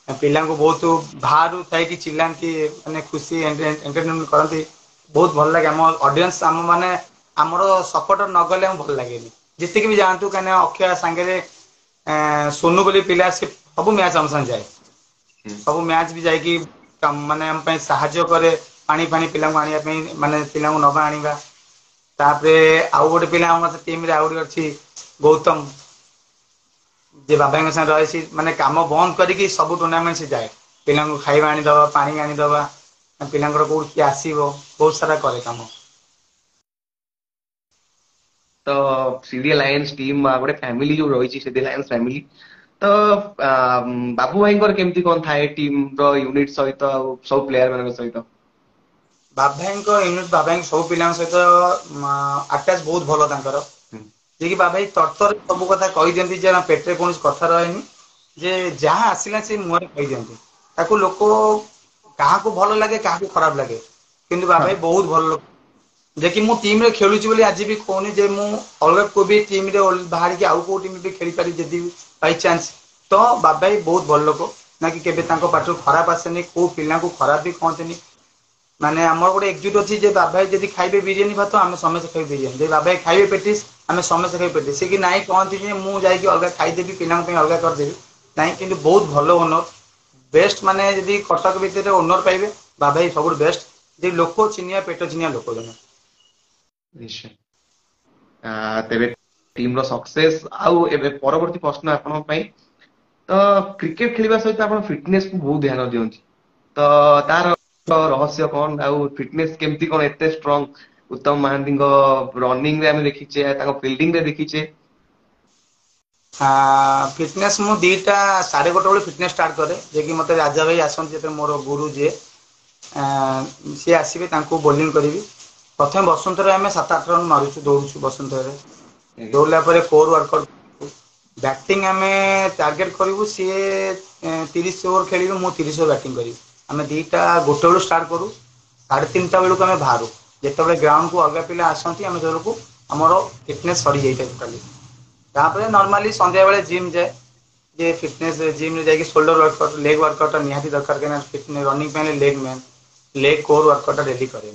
ପିଲାଙ୍କୁ ବହୁତ ବାହାରୁ ଥାଇକି ଚିଲାନ୍ତି, ମାନେ ଖୁସି ଏଣ୍ଟରଟେନମେଣ୍ଟ କରନ୍ତି। ବହୁତ ଭଲ ଲାଗେ ଆମ ଅଡିଏନ୍ସ ଆମ ମାନେ ଆମର ସପୋର୍ଟର ନ ଗଲେ ଆମକୁ ଭଲ ଲାଗେନି। ଯେତିକି ବି ଯାଆନ୍ତୁ କାହିଁକିନା ଅକ୍ଷୟ ସାଙ୍ଗରେ ସୋନୁ ବୋଲି ପିଲା ସେ ସବୁ ମ୍ୟାଚ ଆମ ସାଙ୍ଗେ ଯାଏ। ସବୁ ମ୍ୟାଚ ବି ଯାଇକି ମାନେ ଆମ ପାଇଁ ସାହାଯ୍ୟ କରେ ପାଣି ଫାଣି ପିଲାଙ୍କୁ ଆଣିବା ପାଇଁ, ମାନେ ପିଲାଙ୍କୁ ନବା ଆଣିବା। ତାପରେ ଆଉ ଗୋଟେ ପିଲା ଆମ ଟିମରେ ଆଉ ଗୋଟେ ଅଛି ଗୌତମ। ଯେ ବାବାଙ୍କ ସାଙ୍ଗରେ ରହିଛି, ମାନେ କାମ ବନ୍ଦ କରିକି ସବୁ ଟୁର୍ଣ୍ଣାମେଣ୍ଟ ସେ ଯାଏ। ପିଲାଙ୍କୁ ଖାଇବା ଆଣିଦବା, ପାଣି ଆଣିଦବା, ପିଲାଙ୍କର କୋଉଠି କିଏ ଆସିବ, ବହୁତ ସାରା କରେ କାମ। ତ ସିଡି ଆଲାଏନ୍ସ ଟିମ୍ ଗୋଟେ ଫ୍ୟାମିଲି ଯୋଉ ରହିଛି ସିଡି ଆଲାଏନ୍ସ ଫ୍ୟାମିଲି, ତ ବାବୁ ଭାଇଙ୍କର କେମିତି କଣ ଥାଏ ଟିମ ର ୟୁନିଟ ସହିତ ଆଉ ସବୁ ପ୍ଲେୟାର ମାନଙ୍କ ସହିତ? ବାବୁ ଭାଇଙ୍କ ୟୁନିଟ, ବାବୁ ଭାଇ ସବୁ ପିଲାଙ୍କ ସହିତ ଆଟାଚ ବହୁତ ଭଲ ତାଙ୍କର। ଯିଏକି ବାବୁ ଭାଇ ତରତର ସବୁ କଥା କହିଦିଅନ୍ତି, ଯେ ପେଟରେ କୌଣସି କଥା ରହେନି, ଯେ ଯାହା ଆସିଲା ସେ ମୁହଁରେ କହିଦିଅନ୍ତି। ତାକୁ ଲୋକ କାହାକୁ ଭଲ ଲାଗେ କାହାକୁ ଖରାପ ଲାଗେ, କିନ୍ତୁ ବାବୁ ଭାଇ ବହୁତ ଭଲ ଲୋକ। ଯେ କି ମୁଁ ଟିମ ରେ ଖେଳୁଛି ବୋଲି ଆଜି ବି କହୁନି ଯେ ମୁଁ ଅଲଗା କୋଉ ବି ଟିମ ରେ ବାହାରିକି ଆଉ କୋଉ ଟିମ ବି ଖେଳିପାରିବି ଯଦି ବାଇଚାନ୍ସ। ତ ବାବୁ ଭାଇ ବହୁତ ଭଲ ଲୋକ, ନା କି କେବେ ତାଙ୍କ ପାଟିରୁ ଖରାପ ଆସେନି, କୋଉ ପିଲାଙ୍କୁ ଖରାପ ବି କହନ୍ତିନି। ମାନେ ଆମର ଗୋଟେ ଏକଜୁଟ ଅଛି ଯେ ବାବୁ ଭାଇ ଯଦି ଖାଇବେ ବିରିୟାନୀ ଭାତ ଆମେ ସମସ୍ତେ ଖାଇବେ ବିରିୟାନୀ, ଯଦି ବାବୁ ଭାଇ ଖାଇବେ ପେଟିସ୍ ଆମେ ସମସ୍ତେ ଖାଇବେ ପେଟିସ୍। ସେ କି ନାଇଁ କହନ୍ତି ଯେ ମୁଁ ଯାଇକି ଅଲଗା ଖାଇଦେବି, ପିଲାଙ୍କ ପାଇଁ ଅଲଗା କରିଦେବି, ନାଇଁ। କିନ୍ତୁ ବହୁତ ଭଲ ଓନର, ବେଷ୍ଟ। ମାନେ ଯଦି କଟକ ଭିତରେ ଓନର ପାଇବେ, ବାବୁ ଭାଇ ସବୁଠୁ ବେଷ୍ଟ। ଯେ ଲୋକ ଚିହ୍ନିବା ପେଟ ଚିହ୍ନିବା ଲୋକ ଜଣେ। ନିଶ୍ଚୟ। ତେବେ ଟିମ ର ସକ୍ସେସ ଆଉ ଏବେ ପରବର୍ତ୍ତୀ ପ୍ରଶ୍ନ ଆପଣଙ୍କ ପାଇଁ, ତ କ୍ରିକେଟ ଖେଳିବା ସହିତ ଆପଣ ଫିଟନେସ କୁ ବହୁତ ଧ୍ୟାନ ଦିଅନ୍ତି, ତ ତାର ରହସ୍ୟ କଣ ଆଉ ଫିଟନେସ କେମିତି କଣ ଏତେ ଷ୍ଟ୍ରଙ୍ଗ? ଉତ୍ତମ ମହାନ୍ତିଙ୍କ ରନିଂ ରେ ଆମେ ଦେଖିଛେ, ତାଙ୍କ ଫିଲ୍ଡିଂ ରେ ଦେଖିଛେ। ଫିଟନେସ୍ ମୁଁ 2ଟା 1:30 ବେଳେ ଫିଟନେସ୍ ଷ୍ଟାର୍ଟ କରେ। ଯିଏକି ମୋତେ ରାଜା ଭାଇ ଆସନ୍ତି ଯେତେବେଳେ ମୋର ଗୁରୁ ଯିଏ, ସିଏ ଆସିବେ, ତାଙ୍କୁ ବୋଲିଂ କରିବି। ପ୍ରଥମେ ବସନ୍ତରେ ଆମେ 7 8 ରନ୍ ମାରୁଛୁ, ଦୌଡ଼ୁଛୁ ବସନ୍ତରେ। ଦୌଡ଼ିଲା ପରେ କୋର୍ ୱାର୍କଆଉଟ୍, ବ୍ୟାଟିଂ ଆମେ ଟାର୍ଗେଟ କରିବୁ। ସିଏ 30 ଓଭର ଖେଳିବେ, ମୁଁ 30 ଓଭର ବ୍ୟାଟିଂ କରିବି। ଆମେ 2ଟା 1 ବେଳୁ ଷ୍ଟାର୍ଟ କରୁ, 3:30 ବେଳକୁ ଆମେ ବାହାରୁ। ଯେତେବେଳେ ଗ୍ରାଉଣ୍ଡକୁ ଅଲଗା ପିଲା ଆସନ୍ତି, ଆମେ ସେତେବେଳକୁ ଆମର ଫିଟନେସ୍ ସରିଯାଇଥାଏ ଟୋଟାଲି। ତାପରେ ନର୍ମାଲି ସନ୍ଧ୍ୟାବେଳେ ଜିମ୍ ଯାଏ, ଯେ ଫିଟନେସ୍ ଜିମ୍ରେ ଯାଇକି ସୋଲ୍ଡର ୱାର୍କଆଉଟ୍, ଲେଗ୍ ୱାର୍କଆଉଟ୍ ନିହାତି ଦରକାର, କାହିଁକିନା ରନିଂ ପାଇଁ leg main, leg core workout daily କରେ।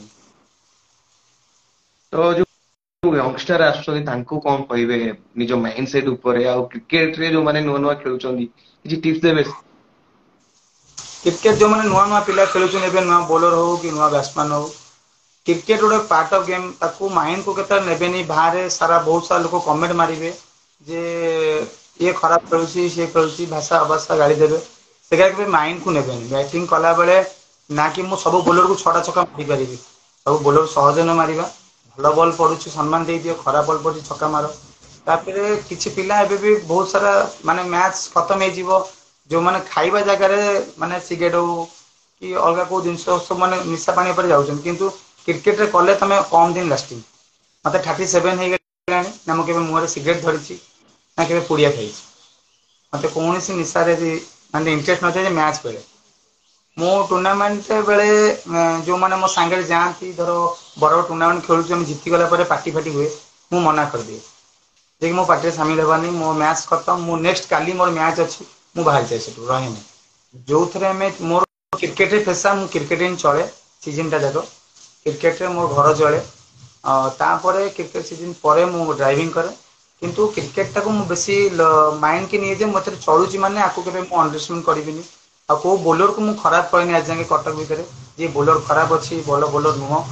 ତ ଯୋଉ ୟଙ୍ଗଷ୍ଟର ଆସୁଛନ୍ତି ତାଙ୍କୁ କଣ କହିବେ ନିଜ ମାଇଣ୍ଡ ସେଟ୍ ଉପରେ, ଆଉ କ୍ରିକେଟ ରେ ଯୋଉମାନେ ନୂଆ ନୂଆ ଖେଳୁଛନ୍ତି କିଛି ଟିପ୍ସ ଦେବେ? କ୍ରିକେଟ ଯୋଉମାନେ ନୂଆ ନୂଆ ପିଲା ଖେଳୁଛନ୍ତି ଏବେ, ନୂଆ ବୋଲର ହଉ କି ନୂଆ ବ୍ୟାଟ୍ସମ୍ୟାନ ହଉ, କ୍ରିକେଟ ଗୋଟେ ପାର୍ଟ ଅଫ୍ ଗେମ୍। ତାକୁ ମାଇଣ୍ଡକୁ କେତେବେଳେ ନେବେନି। ବାହାରେ ସାରା ବହୁତ ସାରା ଲୋକ କମେଣ୍ଟ ମାରିବେ ଯେ ଇଏ ଖରାପ ଖେଳୁଛି, ସିଏ ଖେଳୁଛି, ଭାଷା ଅଭାଷା ଗାଳି ଦେବେ। ସେ ସେଟା କେବେ ମାଇଣ୍ଡ କୁ ନେବେନି। ବ୍ୟାଟିଂ କଲା ବେଳେ ନା କି ମୁଁ ସବୁ ବୋଲରକୁ ଛଅଟା ଛକା ମାରିପାରିବି। ସବୁ ବୋଲର ସହଜ ନୁହେଁ ମାରିବା। ଭଲ ବଲ୍ ପଡୁଛି ସମ୍ମାନ ଦେଇଦିଅ, ଖରାପ ବଲ୍ ପଡୁଛି ଛକା ମାର। ତାପରେ କିଛି ପିଲା ଏବେ ବି ବହୁତ ସାରା ମାନେ ମ୍ୟାଚ ଖତମ ହେଇଯିବ, ଯୋଉମାନେ ଖାଇବା ଜାଗାରେ ମାନେ ସିଗରେଟ ହଉ କି ଅଲଗା କୋଉ ଜିନିଷ ସବୁ ମାନେ ନିଶା ପାଣି ଉପରେ ଯାଉଛନ୍ତି। କିନ୍ତୁ କ୍ରିକେଟରେ କଲେ ତମେ କମ ଦିନ ଲାଷ୍ଟିଙ୍ଗ। ମତେ 37 ହେଇଗଲାଣି ନା ମୁଁ କେବେ ମୁହଁରେ ସିଗରେଟ୍ ଧରିଛି ନା କେବେ ପୁଡିଆ ଖାଇଛି। ମତେ କୌଣସି ନିଶାରେ ବି ମାନେ ଇଣ୍ଟରେଷ୍ଟ ନଥାଏ ଯେ ମ୍ୟାଚ ବେଳେ। ମୁଁ ଟୁର୍ଣ୍ଣାମେଣ୍ଟ ବେଳେ ଯୋଉମାନେ ମୋ ସାଙ୍ଗରେ ଯାଆନ୍ତି, ଧର ବଡ ଟୁର୍ଣ୍ଣାମେଣ୍ଟ ଖେଳୁଛି ଆମେ, ଜିତିଗଲା ପରେ ପାଟି ଫାଟି ହୁଏ, ମୁଁ ମନା କରିଦିଏ। ଯେ କି ମୋ ପାର୍ଟିରେ ସାମିଲ ହେବନି, ମୋ ମ୍ୟାଚ୍ ଖତମ, ମୁଁ ନେକ୍ସଟ କାଲି ମୋର ମ୍ୟାଚ୍ ଅଛି, ମୁଁ ବାହାରି ଯାଏ ସେଠୁ ରହେନି। ଯୋଉଥିରେ ଆମେ ମୋର କ୍ରିକେଟରେ ପେସା, ମୁଁ କ୍ରିକେଟ ହିଁ ଚଳେ ସିଜନଟା ଯାକ। କ୍ରିକେଟରେ ମୋ ଘର ଚଳେ। ତାପରେ କ୍ରିକେଟ ସିଜନ ପରେ ମୁଁ ଡ୍ରାଇଭିଂ କରେ। କିନ୍ତୁ କ୍ରିକେଟଟାକୁ ମୁଁ ବେଶୀ ମାଇଣ୍ଡ କି ନିଏ ଯେ ମୁଁ ଏଥିରେ ଚଳୁଛି ମାନେ ଆକୁ କେବେ ମୁଁ ଅଣ୍ଡରଷ୍ଟମାଟ କରିବିନି। ଆଉ କୋଉ ବୋଲରକୁ ମୁଁ ଖରାପ କହେନି ଆଜି ଯାଙ୍କେ କଟକ ଭିତରେ, ଯିଏ ବୋଲର ଖରାପ ଅଛି ଭଲ ବୋଲର ନୁହଁ।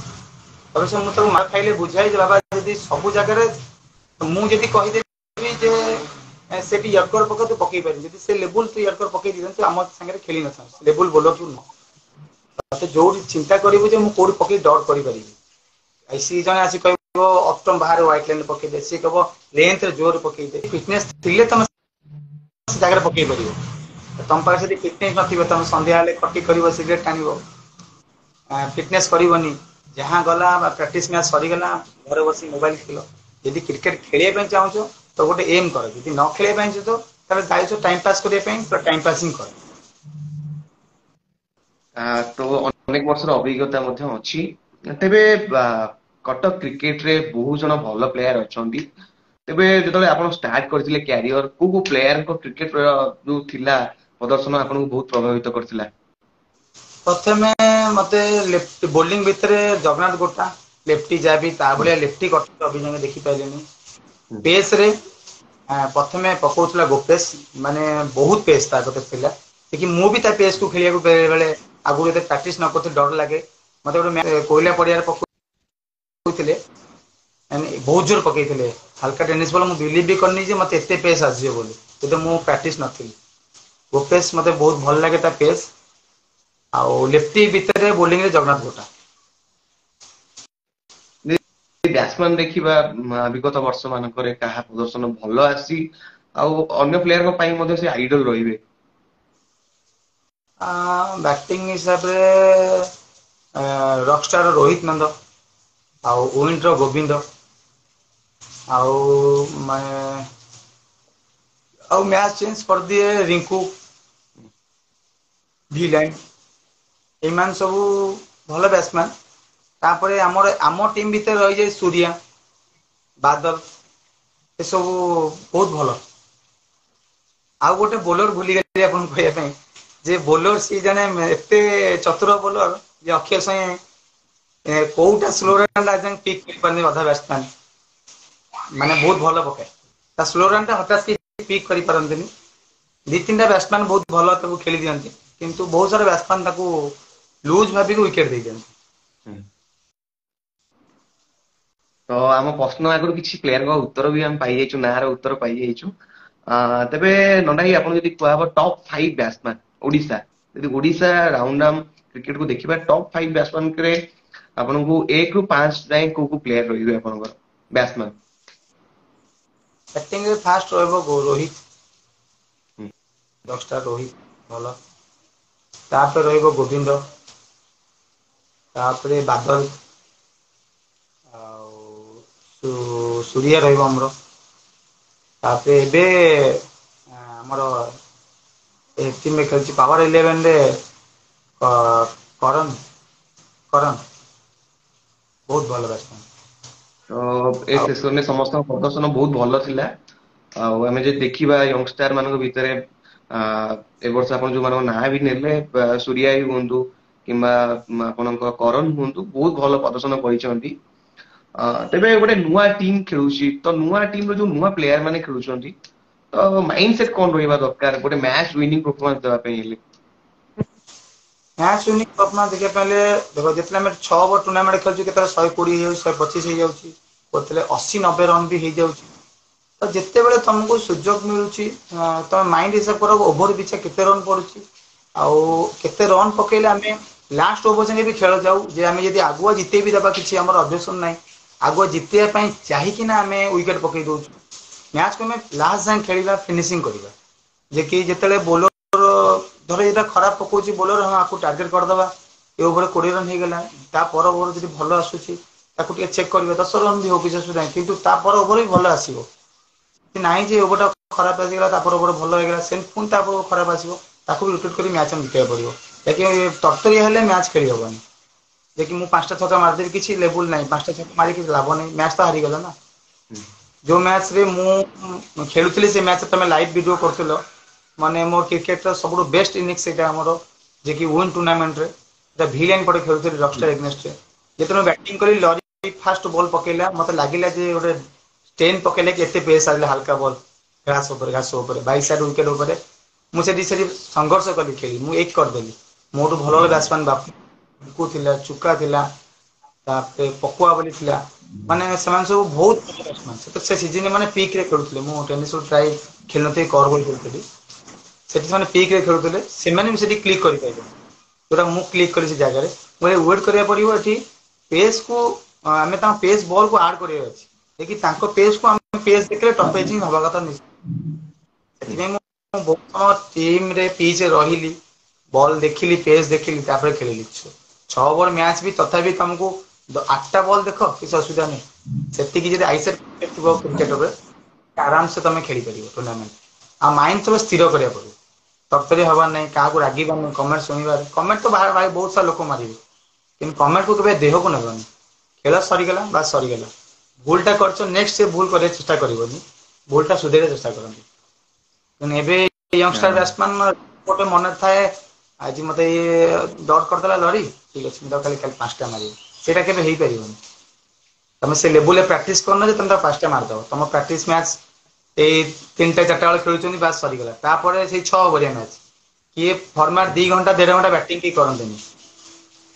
ଅବଶ୍ୟ ମୁଁ ତାକୁ ମାଡ ଖାଇଲେ ବୁଝାଏ ଯେ ବାବା ଯଦି ସବୁ ଜାଗାରେ ମୁଁ ଯଦି କହିଦେବି ଯେ ସେଠି ୟର୍କର ପକା, ତୁ ପକେଇ ପାରିବୁ। ଯଦି ସେ ଲେବୁଲ ତୁ ୟର୍କର ପକେଇ ଦେଇଥାନ୍ତୁ, ଆମ ସାଙ୍ଗରେ ଖେଳି ନଥାନ୍ତୁ। ଲେବୁଲ ବୋଲର ତୁ ନୁହଁ। ତତେ ଯୋଉଠି ଚିନ୍ତା କରିବୁ ଯେ ମୁଁ କୋଉଠି ପକେଇ ଡଟ୍ କରିପାରିବି। ଆଉ ସିଏ ଜଣେ ଆସି କହିବ ଅଷ୍ଟମ ବାହାରେ ହ୍ୱାଇଟ ଲାଇନ ପକେଇଦେ, ସିଏ କହିବ ଲେନ୍ଥରେ ଜୋର ପକେଇଦେ। ଫିଟନେସ ଥିଲେ ତମେ ସେ ଜାଗାରେ ପକେଇ ପାରିବ। ତମ ପାଖରେ ଯଦି ଫିଟନେସ ନଥିବ, ତମେ ସନ୍ଧ୍ୟା ହେଲେ ଖଟି କରିବ, ସିଗରେଟ ଟାଣିବ, ଫିଟନେସ କରିବନି, ଯାହା ଗଲା ବା ପ୍ରାକ୍ଟିସ ମ୍ୟାଚ ସରିଗଲା ଘରେ ବସି ମୋବାଇଲ ଖେଳ। ଯଦି କ୍ରିକେଟ ଖେଳିବା ପାଇଁ ଚାହୁଁଛ ତ ଗୋଟେ ଏମ୍ କର। ଯଦି ନ ଖେଳିବା ପାଇଁ ଚାହୁଁଛ, ତାହେଲେ ଯାଇଛ ଟାଇମ ପାସ୍ କରିବା ପାଇଁ, ତ ଟାଇମ ପାସ୍ ହିଁ କର। ତ ଅନେକ ବର୍ଷର ଅଭିଜ୍ଞତା ମଧ୍ୟ ଅଛି। ତେବେ କଟକ କ୍ରିକେଟରେ ବହୁତ ଜଣ ଭଲ ପ୍ଲେୟାର ଅଛନ୍ତି। ତେବେ ଯେତେବେଳେ ଆପଣ ଷ୍ଟାର୍ଟ କରିଥିଲେ କ୍ୟାରିୟର, କୋଉ କୋଉ ପ୍ଲେୟାରଙ୍କ କ୍ରିକେଟ ଯୋଉ ଥିଲା ପ୍ରଦର୍ଶନ ଆପଣଙ୍କୁ ବହୁତ ପ୍ରଭାବିତ କରିଥିଲା? ପ୍ରଥମେ ମତେ ଲେଫ୍ଟ ବୋଲିଂ ଭିତରେ ଜଗନ୍ନାଥ ଗୋଟା, ଲେଫ୍ଟି ଯାହାବି ତା ଭଳିଆ ଲେଫ୍ଟି କଟକ ଅଭିଯାନ ଦେଖିପାରିଲିନି। ପେସ ରେ ପ୍ରଥମେ ପକଉଥିଲା ଗୋପେଶ, ମାନେ ବହୁତ ପେସ୍ ତା କତିରେ ଥିଲା କି ମୁଁ ବି ତା ପେସ୍ କୁ ଖେଳିବାକୁ ବେଳେ ବେଳେ ଆଗରୁ ଏତେ ପ୍ରାକ୍ଟିସ ନ କରୁଥିଲି ଡର ଲାଗେ ମତେ। ଗୋଟେ କୋଇଲା ପଡିଆରେ ପକଉଥିଲେ, ମାନେ ବହୁତ ଜୋର ପକେଇଥିଲେ ହାଲକା ଟେନିସ୍ ବଲ। ମୁଁ ବିଲିଭ୍ ବି କରିନି ଯେ ମତେ ଏତେ ପେସ୍ ଆସିଯିବ ବୋଲି, କିନ୍ତୁ ମୁଁ ପ୍ରାକ୍ଟିସ ନଥିଲି। ଗୋପେଶ ମତେ ବହୁତ ଭଲ ଲାଗେ ତା ପେସ୍। ଆଉ ଲେଫ୍ଟି ଭିତରେ ବୋଲିଂରେ ଜଗନ୍ନାଥ ଗୋଟା। ବ୍ୟାଟ୍ସମ୍ୟାନ ଦେଖିବା, ବିଗତ ବର୍ଷ ମାନଙ୍କରେ କାହା ପ୍ରଦର୍ଶନ ଭଲ ଆସିଛି ଆଉ ଅନ୍ୟ ପ୍ଲେୟାରଙ୍କ ପାଇଁ ମଧ୍ୟ ସେ ଆଇଡଲ ରହିବେ? ବ୍ୟାଟିଂ ହିସାବରେ ରକଷ୍ଟାର ରୋହିତ ନନ୍ଦ ଆଉ ୱିଣ୍ଡର ଗୋବିନ୍ଦ ଆଉ ମାନେ ଆଉ ମ୍ୟାଚ ଚେଞ୍ଜ କରିଦିଏ ରିଙ୍କୁ ଭି ଲାଇନ୍। ଏମାନେ ସବୁ ଭଲ ବ୍ୟାଟ୍ସମ୍ୟାନ୍। ତାପରେ ଆମର ଆମ ଟିମ୍ ଭିତରେ ରହିଯାଏ ସୂର୍ୟା, ବାଦଲ, ଏସବୁ ବହୁତ ଭଲ। ଆଉ ଗୋଟେ ବୋଲର ଭୁଲିଗଲି ଆପଣଙ୍କୁ କହିବା ପାଇଁ ଯେ ବୋଲର ସିଏ ଜଣେ ଏତେ ଚତୁର ବୋଲର ଯେ ଅକ୍ଷୟ ସାଙ୍ଗେ କୋଉଟା ସ୍ଲୋ ପିକ୍ କରିପାରନି ଅଧା ବ୍ୟାଟ୍ସମ୍ୟାନ୍, ମାନେ ବହୁତ ଭଲ ପକାଏ। ତା ସ୍ଲୋ ରନ୍ ଟା ହଠାତ୍ ପିକ୍ କରିପାରନ୍ତିନି। ଦି ତିନିଟା ବ୍ୟାଟ୍ସମ୍ୟାନ୍ ବହୁତ ଭଲ ତାକୁ ଖେଳି ଦିଅନ୍ତି, କିନ୍ତୁ ବହୁତ ସାରା ବ୍ୟାଟ୍ସମ୍ୟାନ୍ ତାକୁ ଲୁଜ୍ ଭାବିକି ୱିକେଟ ଦେଇଦିଅନ୍ତି। ତ ଆମ ପ୍ରଶ୍ନ ଆଗରୁ କିଛି ପ୍ଲେୟାରଙ୍କ ଉତ୍ତର ବି ଆମେ ପାଇଯାଇଛୁ, ନାଁର ଉତ୍ତର ପାଇଯାଇଛୁ। ତେବେ ନଣ୍ଡା ଭାଇ, ଆପଣ ଯଦି କୁହାହବ ଟପ୍ 5 ବ୍ୟାଟ୍ସମ୍ୟାନ୍ ଓଡିଶା, ଯଦି ଓଡିଶା ରାଉଣ୍ଡ ଆର୍ମ କ୍ରିକେଟ କୁ ଦେଖିବା, ଟପ୍ 5 ବ୍ୟାଟ୍ସମ୍ୟାନ ରେ ଆପଣଙ୍କୁ 1ରୁ 5 ଯାଏଁ କୋଉ କୋଉ ପ୍ଲେୟାର ରହିବେ ଆପଣଙ୍କର ବ୍ୟାଟ୍ସମ୍ୟାନ? ବ୍ୟାଟିଂରେ ଫାଷ୍ଟ ରହିବ ରୋହିତ, 10ଟା ରୋହିତ ଭଲ। ତାପରେ ରହିବ ଗୋବିନ୍ଦ, ତାପରେ ବାଦଲ ଆଉ ସୂରିୟା ରହିବ ଆମର। ତାପରେ ଏବେ ଆମର ଏ ଟିମରେ ଖେଳୁଛି ପାୱାର ଇଲେଭେନରେ କରନ କରନ ବହୁତ ଭଲ ବ୍ୟାଟ୍ସମ୍ୟାନ୍। ତ ଏ ଆଉ ସେସନରେ ସମସ୍ତଙ୍କ ପ୍ରଦର୍ଶନ ବହୁତ ଭଲ ଥିଲା। ଆଉ ଆମେ ଯଦି ଦେଖିବା ୟଙ୍ଗଷ୍ଟାର ମାନଙ୍କ ଭିତରେ, ଏ ବର୍ଷ ଆପଣ ଯୋଉମାନଙ୍କ ନାଁ ବି ନେଲେ, ସୂର୍ୟା ବି ହୁଅନ୍ତୁ କିମ୍ବା ଆପଣଙ୍କ କରନ ହୁଅନ୍ତୁ, ବହୁତ ଭଲ ପ୍ରଦର୍ଶନ କରିଛନ୍ତି। ତେବେ ଗୋଟେ ନୂଆ ଟିମ୍ ଖେଳୁଛି, ତ ନୂଆ ଟିମ୍ ର ଯୋଉ ନୂଆ ପ୍ଲେୟାର ମାନେ ଖେଳୁଛନ୍ତି, ତ ମାଇଣ୍ଡ ସେଟ୍ କଣ ରହିବା ଦରକାର ଗୋଟେ ମ୍ୟାଚ ୱିନିଂ ପରଫର୍ମାନ୍ସ ଦେବା ପାଇଁ ହେଲେ? ମ୍ୟାଚ୍ ୱିନିଂ ପରଫର୍ମାନ୍ସ ଦେଖିବା ପାଇଁ ହେଲେ, ଦେଖ, ଯେତେବେଳେ ଆମେ 6 ଓଭର ଟୁର୍ଣ୍ଣାମେଣ୍ଟ ଖେଳୁଛୁ, କେତେବେଳେ 120 ହେଇଯାଉଛି, 125 ହେଇଯାଉଛି, କେତେବେଳେ 80-90 ରନ୍ ବି ହେଇଯାଉଛି। ତ ଯେତେବେଳେ ତମକୁ ସୁଯୋଗ ମିଳୁଛି, ତମେ ମାଇଣ୍ଡ ହିସାବ କର ଓଭର ପିଛା କେତେ ରନ୍ ପଡୁଛି। ଆଉ କେତେ ରନ୍ ପକେଇଲେ ଆମେ ଲାଷ୍ଟ ଓଭର ଯାଏଁ ବି ଖେଳ ଯାଉ, ଯେ ଆମେ ଯଦି ଆଗୁଆ ଜିତେଇ ବି ଦେବା କିଛି ଆମର ଅବଜେକ୍ସନ ନାହିଁ। ଆଗୁଆ ଜିତେଇବା ପାଇଁ ଚାହିଁକିନା ଆମେ ୱିକେଟ ପକେଇ ଦଉଛୁ। ମ୍ୟାଚକୁ ଆମେ ଲାଷ୍ଟ ଯାଏଁ ଖେଳିବା, ଫିନିସିଂ କରିବା। ଯେ କି ଯେତେବେଳେ ବୋଲର ଧର ଏଇଟା ଖରାପ ପକଉଛି ବୋଲର, ହଁ ଆକୁ ଟାର୍ଗେଟ କରିଦବା, ଏ ଓଭର 20 ରନ୍ ହେଇଗଲା। ତା ପର ଓଭର ଯଦି ଭଲ ଆସୁଛି ତାକୁ ଟିକେ ଚେକ୍ କରିବା, 10 ରନ୍ ବି ହଉ କିଛି ଅସୁବିଧା ନାହିଁ, କିନ୍ତୁ ତା ପର ଓଭର ବି ଭଲ ଆସିବ। ନାହିଁ ଯେ ଓଭରଟା ଖରାପ ଆସିଗଲା ତାପର ଓଭର ଭଲ ହେଇଗଲା, ସେମିତି ପୁଣି ତା ଖରାପ ଆସିବ, ତାକୁ ବି ରୋଟେଟ୍ କରି ମ୍ୟାଚ୍ ଆମେ ଜିତେଇବାକୁ ପଡିବ। ବାକି ତରତରିଆ ହେଲେ ମ୍ୟାଚ୍ ଖେଳି ହବନି। ଯେ କି ମୁଁ 5ଟା ଛକା ମାରିଦେବି କିଛି ଲେବୁଲ ନାହିଁ, 5ଟା ଛକା ମାରିକି କିଛି ଲାଭ ନାହିଁ, ମ୍ୟାଚ୍ ତ ହାରିଗଲା ନା। ଯୋଉ ମ୍ୟାଚ୍ ରେ ମୁଁ ଖେଳୁଥିଲି ସେ ମ୍ୟାଚ୍ ତମେ ଲାଇଭ୍ ଭିଡିଓ କରୁଥିଲ, ମାନେ ମୋ କ୍ରିକେଟର ସବୁଠୁ ବେଷ୍ଟ ଇନିଂସ ସେଇଟା ଆମର, ଯିଏକି ୱିନ୍ ଟୁର୍ଣ୍ଣାମେଣ୍ଟରେ ଭି ଲାଇନ୍ ପଟେ ଖେଳୁଥିଲି ରକଷ୍ଟାର ଏଗନେଷ୍ଟରେ। ଯେତେବେଳେ ମୁଁ ବ୍ୟାଟିଂ କଲି, ଲରି ଫାଷ୍ଟ ବଲ୍ ପକେଇଲା, ମତେ ଲାଗିଲା ଯେ ଗୋଟେ ଟେନ୍ ପକେଇଲେ କି ଏତେ ପେସ୍ ଆସିଲା ହାଲକା ବଲ୍ ଘାସ ଉପରେ, ଘାସ ଉପରେ 22 ୟାର୍ଡ ୱିକେଟ ଉପରେ। ମୁଁ ସେଠି ସେଠି ସଂଘର୍ଷ କଲି ଖେଳି, ମୁଁ ଏକ କରିଦେଲି। ମୋଠୁ ଭଲ ଭଲ ବ୍ୟାଟ୍ସମ୍ୟାନ୍ ବାପୁ ଥିଲା, ଚୁକା ଥିଲା, ତାପରେ ପକୁଆ ବୋଲି ଥିଲା, ମାନେ ସେମାନେ ସବୁ ବହୁତ ଭଲ ବ୍ୟାଟ୍ସମ୍ୟାନ୍। ସେ ସିଜନରେ ମାନେ ପିକ୍ ରେ ଖେଳୁଥିଲେ। ମୁଁ ଟେନିସ୍ ପ୍ରାୟ ଖେଳୁନଥିଲି, କର୍ ବଲ୍ ଖେଳୁଥିଲି। ସେଠି ସେମାନେ ପିକ୍ ରେ ଖେଳୁଥିଲେ, ସେମାନେ ବି ସେଠି କ୍ଲିକ୍ କରିପାରିଲେନି ଯୋଉଟା ମୁଁ କ୍ଲିକ୍ କଲି ସେ ଜାଗାରେ। ମୁଁ ୱେଟ୍ କରିବାକୁ ପଡିବ ଏଠି, ପେସ୍ କୁ ଆମେ ତାଙ୍କ ପେସ୍ ବଲ୍ କୁ ଆଡ୍ କରିବାର ଅଛି, ଯେ କି ତାଙ୍କ ପେସ୍ କୁ ଆମେ ପେସ୍ ଦେଖିଲେ ଟପ୍ ହବା କଥା ନିଶ୍ଚୟ। ସେଥିପାଇଁ ମୁଁ ବହୁତ ସମୟ ଟିମରେ ପିଚ୍ ରେ ରହିଲି, ବଲ୍ ଦେଖିଲି, ପେସ୍ ଦେଖିଲି, ତାପରେ ଖେଳିଲି। 6 ଓଭର ମ୍ୟାଚ୍ ବି ତଥାପି ତମକୁ 8ଟା ବଲ୍ ଦେଖ, କିଛି ଅସୁବିଧା ନାହିଁ। ସେତିକି ଯଦି ଆଇସେଟ୍ ଥିବ କ୍ରିକେଟରେ ଆରାମସେ ତମେ ଖେଳିପାରିବ ଟୁର୍ଣ୍ଣାମେଣ୍ଟ। ଆଉ ମାଇଣ୍ଡ ସବୁ ସ୍ଥିର କରିବାକୁ ପଡିବ, ତରତରି ହବାର ନାହିଁ, କାହାକୁ ରାଗିବାନି, କମେଣ୍ଟ ଶୁଣିବାର, କମେଣ୍ଟ ତ ଭାଇ ବହୁତ ସାରା ଲୋକ ମାରିବେ, କିନ୍ତୁ କମେଣ୍ଟକୁ କେବେ ଦେହକୁ ନେବନି। ଖେଳ ସରିଗଲା ବା ସରିଗଲା, ଭୁଲଟା କରିଛ ନେକ୍ସଟ ସେ ଭୁଲ କରିବାକୁ ଚେଷ୍ଟା କରିବନି, ଭୁଲଟା ସୁଧାରିବାକୁ ଚେଷ୍ଟା କରନ୍ତି। ତେଣୁ ଏବେ ୟଙ୍ଗଷ୍ଟର ବ୍ୟାଟ୍ସମ୍ୟାନ ଗୋଟେ ମନେ ଥାଏ, ଆଜି ମତେ ଇଏ ଡଟ୍ କରିଦେଲା ଲରି, ଠିକ ଅଛି ମୁଁ ତାକୁ ଖାଲି କାଲି 5ଟା ମାରିବି, ସେଇଟା କେବେ ହେଇପାରିବନି। ତମେ ସେ ଲେବୁଲରେ ପ୍ରାକ୍ଟିସ କରୁନ ଯେ ତମେ ତାକୁ 5ଟା ମାରିଦବ। ତମ ପ୍ରାକ୍ଟିସ ମ୍ୟାଚ୍ ଏଇ 3ଟା 4ଟା ବେଳେ ଖେଳୁଛନ୍ତି, ବାସ୍ ସରିଗଲା। ତାପରେ ସେଇ 6 ଓଭରିଆ ମ୍ୟାଚ୍, କିଏ ଫର୍ମାଟ 2 ଘଣ୍ଟା 1.5 ଘଣ୍ଟା ବ୍ୟାଟିଂ କେହି କରନ୍ତିନି।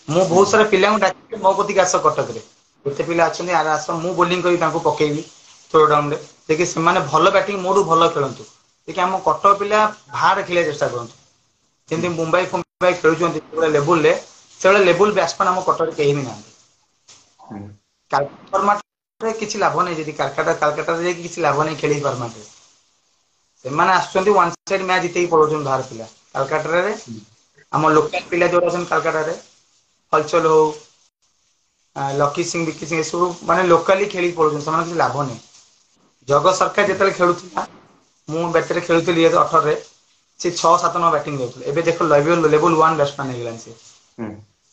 ମୁଁ ବହୁତ ସାରା ପିଲାଙ୍କୁ ଡାକି ମୋ କତିକି ଆସ, କଟକରେ କେତେ ପିଲା ଅଛନ୍ତି ଆରେ ଆସ, ମୁଁ ବୋଲିଂ କରି ତାଙ୍କୁ ପକେଇବି ଥ୍ରୋ ଡାଉନରେ, ଦେଖି ସେମାନେ ଭଲ ବ୍ୟାଟିଂ ମୋଠୁ ଭଲ ଖେଳନ୍ତୁ। ଦେଖି ଆମ କଟକ ପିଲା ବାହାରେ ଖେଳିବାକୁ ଚେଷ୍ଟା କରନ୍ତୁ, ଯେମିତି ମୁମ୍ବାଇ ଫୁମ୍ବାଇ ଖେଳୁଛନ୍ତି ସେଭଳିଆ ଲେବୁଲରେ, ସେଭଳିଆ ଲେବୁଲ ବ୍ୟାଟ୍ସମ୍ୟାନ ଆମ କଟକରେ କେହି ବି ନାହାନ୍ତି। ଫର୍ମାଟରେ କିଛି ଲାଭ ନାହିଁ, ଯଦି କାଲକାଟାରେ ଯାଇକି କିଛି ଲାଭ ନାହିଁ ଖେଳି ଫର୍ମାଟରେ। ସେମାନେ ଆସୁଛନ୍ତି ୱାନ୍ ସାଇଡ୍ ମ୍ୟାଚ୍ ଜିତେଇକି ପଳଉଛନ୍ତି ବାହାର ପିଲା। କାଲକାଟାରେ ଆମ ଲୋକାଲ ପିଲା ଯୋଉ ଅଛନ୍ତି କାଲକାଟାରେ, ହଲଚଲ ହଉ, ଲକି ସିଂ, ବିକି ସିଂ, ଏସବୁ ମାନେ ଲୋକାଲି ଖେଳିକି ପଳଉଛନ୍ତି, ସେମାନଙ୍କ କିଛି ଲାଭ ନାହିଁ। ଜଗତ ସରକାର ଯେତେବେଳେ ଖେଳୁଥିଲା, ମୁଁ ବ୍ୟାଟରେ ଖେଳୁଥିଲି 2018ରେ, ସେ 6-7 ନମ୍ବର ବ୍ୟାଟିଂ କରୁଥିଲେ। ଏବେ ଦେଖ ଲେବୁଲ 1 ବ୍ୟାଟ୍ସମ୍ୟାନ ହେଇଗଲାଣି ସେ।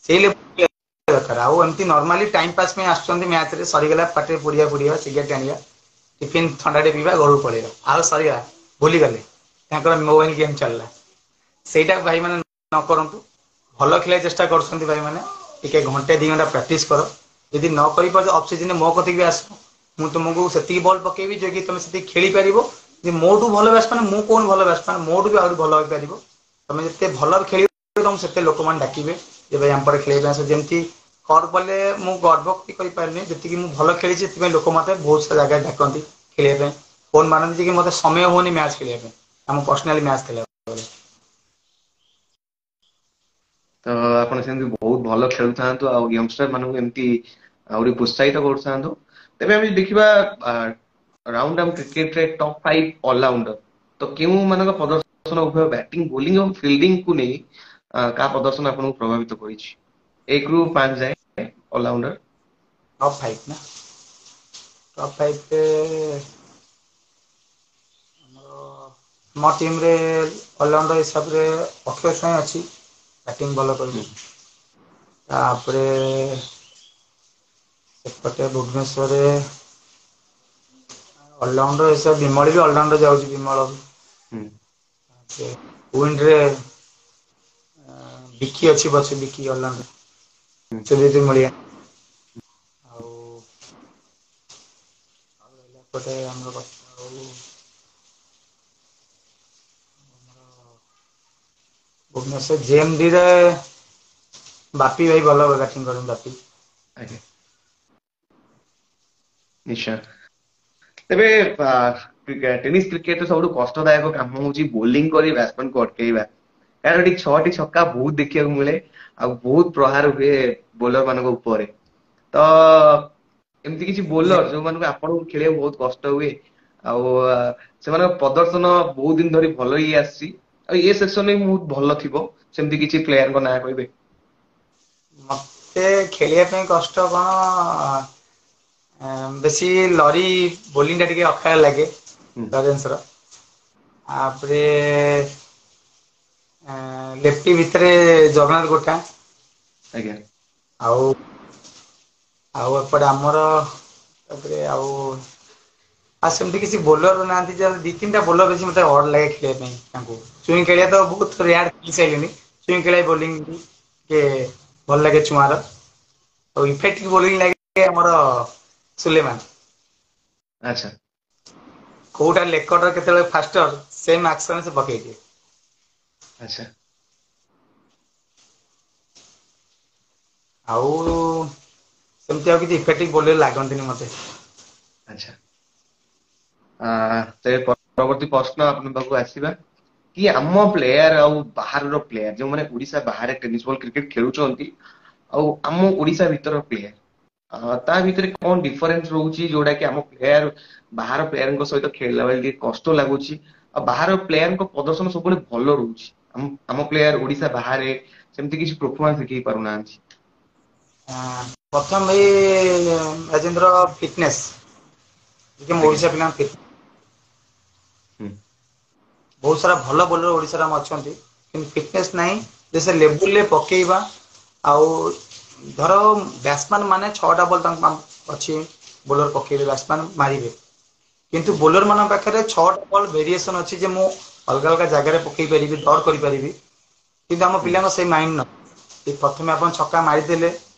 ସେଇ ଲେବୁଲ ଦରକାର। ଆଉ ଏମିତି ନର୍ମାଲି ଟାଇମ ପାସ୍ ପାଇଁ ଆସୁଛନ୍ତି ମ୍ୟାଚରେ, ସରିଗଲା ପାଟିରେ ପୁଡିଆ ପୁଡିବା, ସିଗାରେଟ ଆଣିବା, ଟିଫିନ ଥଣ୍ଡାଟେ ପିଇବା, ଘରକୁ ପଳେଇବା, ଆଉ ସରିଗଲା, ଭୁଲିଗଲେ, ତାଙ୍କର ମୋବାଇଲ ଗେମ୍ ଚାଲିଲା। ସେଇଟା ଭାଇମାନେ ନ କରନ୍ତୁ, ଭଲ ଖେଳିବାକୁ ଚେଷ୍ଟା କରୁଛନ୍ତି ଭାଇମାନେ, ଟିକେ ଘଣ୍ଟେ 2 ଘଣ୍ଟା ପ୍ରାକ୍ଟିସ କର। ଯଦି ନ କରିପାରୁଛ ଅଫ୍ ସିଜନରେ ମୋ କତିକି ବି ଆସ, ମୁଁ ତୁମକୁ ସେତିକି ବଲ୍ ପକେଇବି ଯେ କି ତମେ ସେତିକି ଖେଳିପାରିବ। ଯେ ମୋଠୁ ଭଲ ବ୍ୟାଟ୍ସମ୍ୟାନ, ମୁଁ କହୁନି ଭଲ ବ୍ୟାଟ୍ସମ୍ୟାନ, ମୋଠୁ ବି ଆହୁରି ଭଲ ହେଇପାରିବ। ତମେ ଯେତେ ଭଲ ଖେଳିବ ତମକୁ ସେତେ ଲୋକମାନେ ଡାକିବେ ଯେ ଭାଇ ଆମ ପଟେ ଖେଳିବା ପାଇଁ ଆସ। ଯେମିତି କର୍ ବଲେ ମୁଁ ଗର୍ବ ବି କରିପାରିନି, ଯେତିକି ମୁଁ ଭଲ ଖେଳିଛି ସେଥିପାଇଁ ଲୋକ ମତେ ବହୁତ ସାରା ଜାଗାରେ ଡାକନ୍ତି ଖେଳିବା ପାଇଁ, ଫୋନ ମାରନ୍ତି ଯେ କି ମତେ ସମୟ ହଉନି ମ୍ୟାଚ୍ ଖେଳିବା ପାଇଁ, ଆମ ପର୍ସନାଲି ମ୍ୟାଚ୍ ଖେଳିବା ପାଇଁ। ତ ଆପଣ ସେମିତି ବହୁତ ଭଲ ଖେଳୁଥାନ୍ତୁ ଆଉ ୟଙ୍ଗଷ୍ଟର ମାନଙ୍କୁ ଏମିତି ଆହୁରି ପ୍ରୋତ୍ସାହିତ କରୁଥାନ୍ତୁ। ତେବେ ଆମେ ଦେଖିବା ରାଉଣ୍ଡ ଆମ କ୍ରିକେଟରେ ଟପ୍ 5 ଅଲରାଉଣ୍ଡର, ତ କେଉଁ ମାନଙ୍କ ପ୍ରଦର୍ଶନ ଉଭୟ ବ୍ୟାଟିଂ, ବୋଲିଂ ଏବଂ ଫିଲ୍ଡିଂ କୁ ନେଇ କାହା ପ୍ରଦର୍ଶନ ଆପଣଙ୍କୁ ପ୍ରଭାବିତ କରିଛି? 1ରୁ 5 ଯାଏ ଅଲରାଉଣ୍ଡର। ଟପ୍ 5 ନା? ଟପ୍ 5 ରେ ଆମର ମୋ ଟିମ୍ରେ ଅଲରାଉଣ୍ଡର ହିସାବରେ ଅକ୍ଷୟ ସ୍ୱାଇଁ ଅଛି, ବ୍ୟାଟିଂ ଭଲ କରିବ। ତାପରେ ସେପଟେ ଭୁବନେଶ୍ୱରରେ ଅଲରାଉଣ୍ଡର ହିସାବରେ ବିମଳ ବି ଅଲରାଉଣ୍ଡର ଯାଉଛି, ବିମଳ ବି। ୱିଣ୍ଡରେ ବିକି ଅଛି, ପଛେ ବିକି ଅଲରାଉଣ୍ଡର, ସୁଜିତ ମୁଳିଆ। ଆଉ ଏପଟେ ଆମର ଆଉ ଭୁବନେଶ୍ୱର ଜେଏମଡି ରେ ବାପି ଭାଇ ଭଲ ବ୍ୟାଟିଂ କରନ୍ତି, ବାପି। ଆଜ୍ଞା ନିଶ୍ଚୟ। ତେବେ ଟେନିସ୍ କ୍ରିକେଟରେ ସବୁଠୁ କଷ୍ଟଦାୟକ କାମ ହଉଛି ବୋଲିଂ କରି ବ୍ୟାଟ୍ସମ୍ୟାନକୁ ଅଟକେଇବା, କାରଣ ଏଠି 6ଟି ଛକା ବହୁତ ଦେଖିବାକୁ ମିଳେ ଆଉ ବହୁତ ପ୍ରହାର ହୁଏ ବୋଲର ମାନଙ୍କ ଉପରେ। ତ ଏମିତି କିଛି ବୋଲର ଯୋଉମାନଙ୍କୁ ଆପଣଙ୍କୁ ଖେଳିବାକୁ ବହୁତ କଷ୍ଟ ହୁଏ ଆଉ ସେମାନଙ୍କ ପ୍ରଦର୍ଶନ ବହୁତ ଦିନ ଧରି ଭଲ ହେଇ ଆସିଛି ଆଉ ଏ ସେକ୍ସନରେ ବି ବହୁତ ଭଲ ଥିବ, ସେମିତି କିଛି ପ୍ଲେୟାରଙ୍କ ନାଁ କହିବେ? ମତେ ଖେଳିବା ପାଇଁ କଷ୍ଟ କଣ, ବେଶୀ ଲରି ବୋଲିଂ ଟା ଟିକେ ଅଖାଳିଆ ଲାଗେ ଲରେନ୍ସର। ତାପରେ ଲେଫ୍ଟି ଭିତରେ ଜଗନ୍ନାଥ ଗୋଟା। ଆଜ୍ଞା। ଆଉ ଆଉ ଏପଟେ ଆମର ତାପରେ ଆଉ ଆଉ ସେମିତି କିଛି ବୋଲର ନାହାନ୍ତି, ଯେ ଦି ତିନିଟା ବୋଲର ଅଛି ମତେ ଅଡ୍ ଲାଗେ ଖେଳିବା ପାଇଁ ତାଙ୍କୁ। ଚୁଇଁ ଖେଳିବା ତ ବହୁତ ରେୟାର ଖେଳି ସାରିଲିଣି। ଚୁଇଁ ଖେଳିବା ବୋଲିଂ ଟିକେ ଭଲ ଲାଗେ ଚୁଆଁର। ଆଉ ଇଫେକ୍ଟିଭ ବୋଲିଂ ଲାଗେ ଆମର ସୁଲେମାନ। ଆଚ୍ଛା। କୋଉଟା ଲେକଡର କେତେବେଳେ ଫାଷ୍ଟର ସେମ୍ ଆକ୍ସନ ସେ ପକେଇଦିଏ। ଆଚ୍ଛା। ଆଉ ସେମିତି ଆଉ କିଛି ଇଫେକ୍ଟିଭ ବୋଲର ଲାଗନ୍ତିନି ମତେ। ଆଚ୍ଛା। ତେବେ ପରବର୍ତ୍ତୀ ପ୍ରଶ୍ନ ଆପଣଙ୍କ ପାଖକୁ ଆସିବା କି ଆମ ପ୍ଲେୟାର ଆଉ ବାହାରର ପ୍ଲେୟାର ଯୋଉମାନେ ଓଡିଶା ବାହାରେ ଟେନିସ୍ ବଲ୍ କ୍ରିକେଟ ଖେଳୁଛନ୍ତି ଆଉ ଆମ ଓଡିଶା ଭିତର ପ୍ଲେୟାର, ତା ଭିତରେ କଣ ଡିଫରେନ୍ସ ରହୁଛି, ଯୋଉଟା କି ଆମ ପ୍ଲେୟାର ବାହାର ପ୍ଲେୟାରଙ୍କ ସହିତ ଖେଳିଲା ବେଳେ ଟିକେ କଷ୍ଟ ଲାଗୁଛି ଆଉ ବାହାର ପ୍ଲେୟାରଙ୍କ ପ୍ରଦର୍ଶନ ସବୁବେଳେ ଭଲ ରହୁଛି, ଆମ ପ୍ଲେୟାର ଓଡିଶା ବାହାରେ ସେମିତି କିଛି ପରଫର୍ମାନ୍ସ ଦେଖେଇ ପାରୁନାହାନ୍ତି? ପ୍ରଥମ ଭାଇ ରାଜେନ୍ଦ୍ର ଫିଟନେସ୍, ଟିକେ ଓଡିଶା ପିଲା ଫିଟନେସ୍। ବହୁତ ସାରା ଭଲ ବୋଲର ଓଡିଶାରେ ଆମ ଅଛନ୍ତି, କିନ୍ତୁ ଫିଟନେସ୍ ନାହିଁ ଯେ ସେ ଲେବୁଲରେ ପକେଇବା। ଆଉ ଧର ବ୍ୟାଟ୍ସମ୍ୟାନ ମାନେ 6ଟା ବଲ୍ ତାଙ୍କ ଅଛି ବୋଲର ପକେଇବେ, ବ୍ୟାଟ୍ସମ୍ୟାନ ମାରିବେ, କିନ୍ତୁ ବୋଲର ମାନଙ୍କ ପାଖରେ 6ଟା ବଲ୍ ଭେରିଏସନ ଅଛି ଯେ ମୁଁ ଅଲଗା ଅଲଗା ଜାଗାରେ ପକେଇ ପାରିବି, ଡଟ୍ କରିପାରିବି। କିନ୍ତୁ ଆମ ପିଲାଙ୍କ ସେଇ ମାଇଣ୍ଡ ନୁହଁ। ପ୍ରଥମେ ଆପଣ ଛକା ମାରିଦେଲେ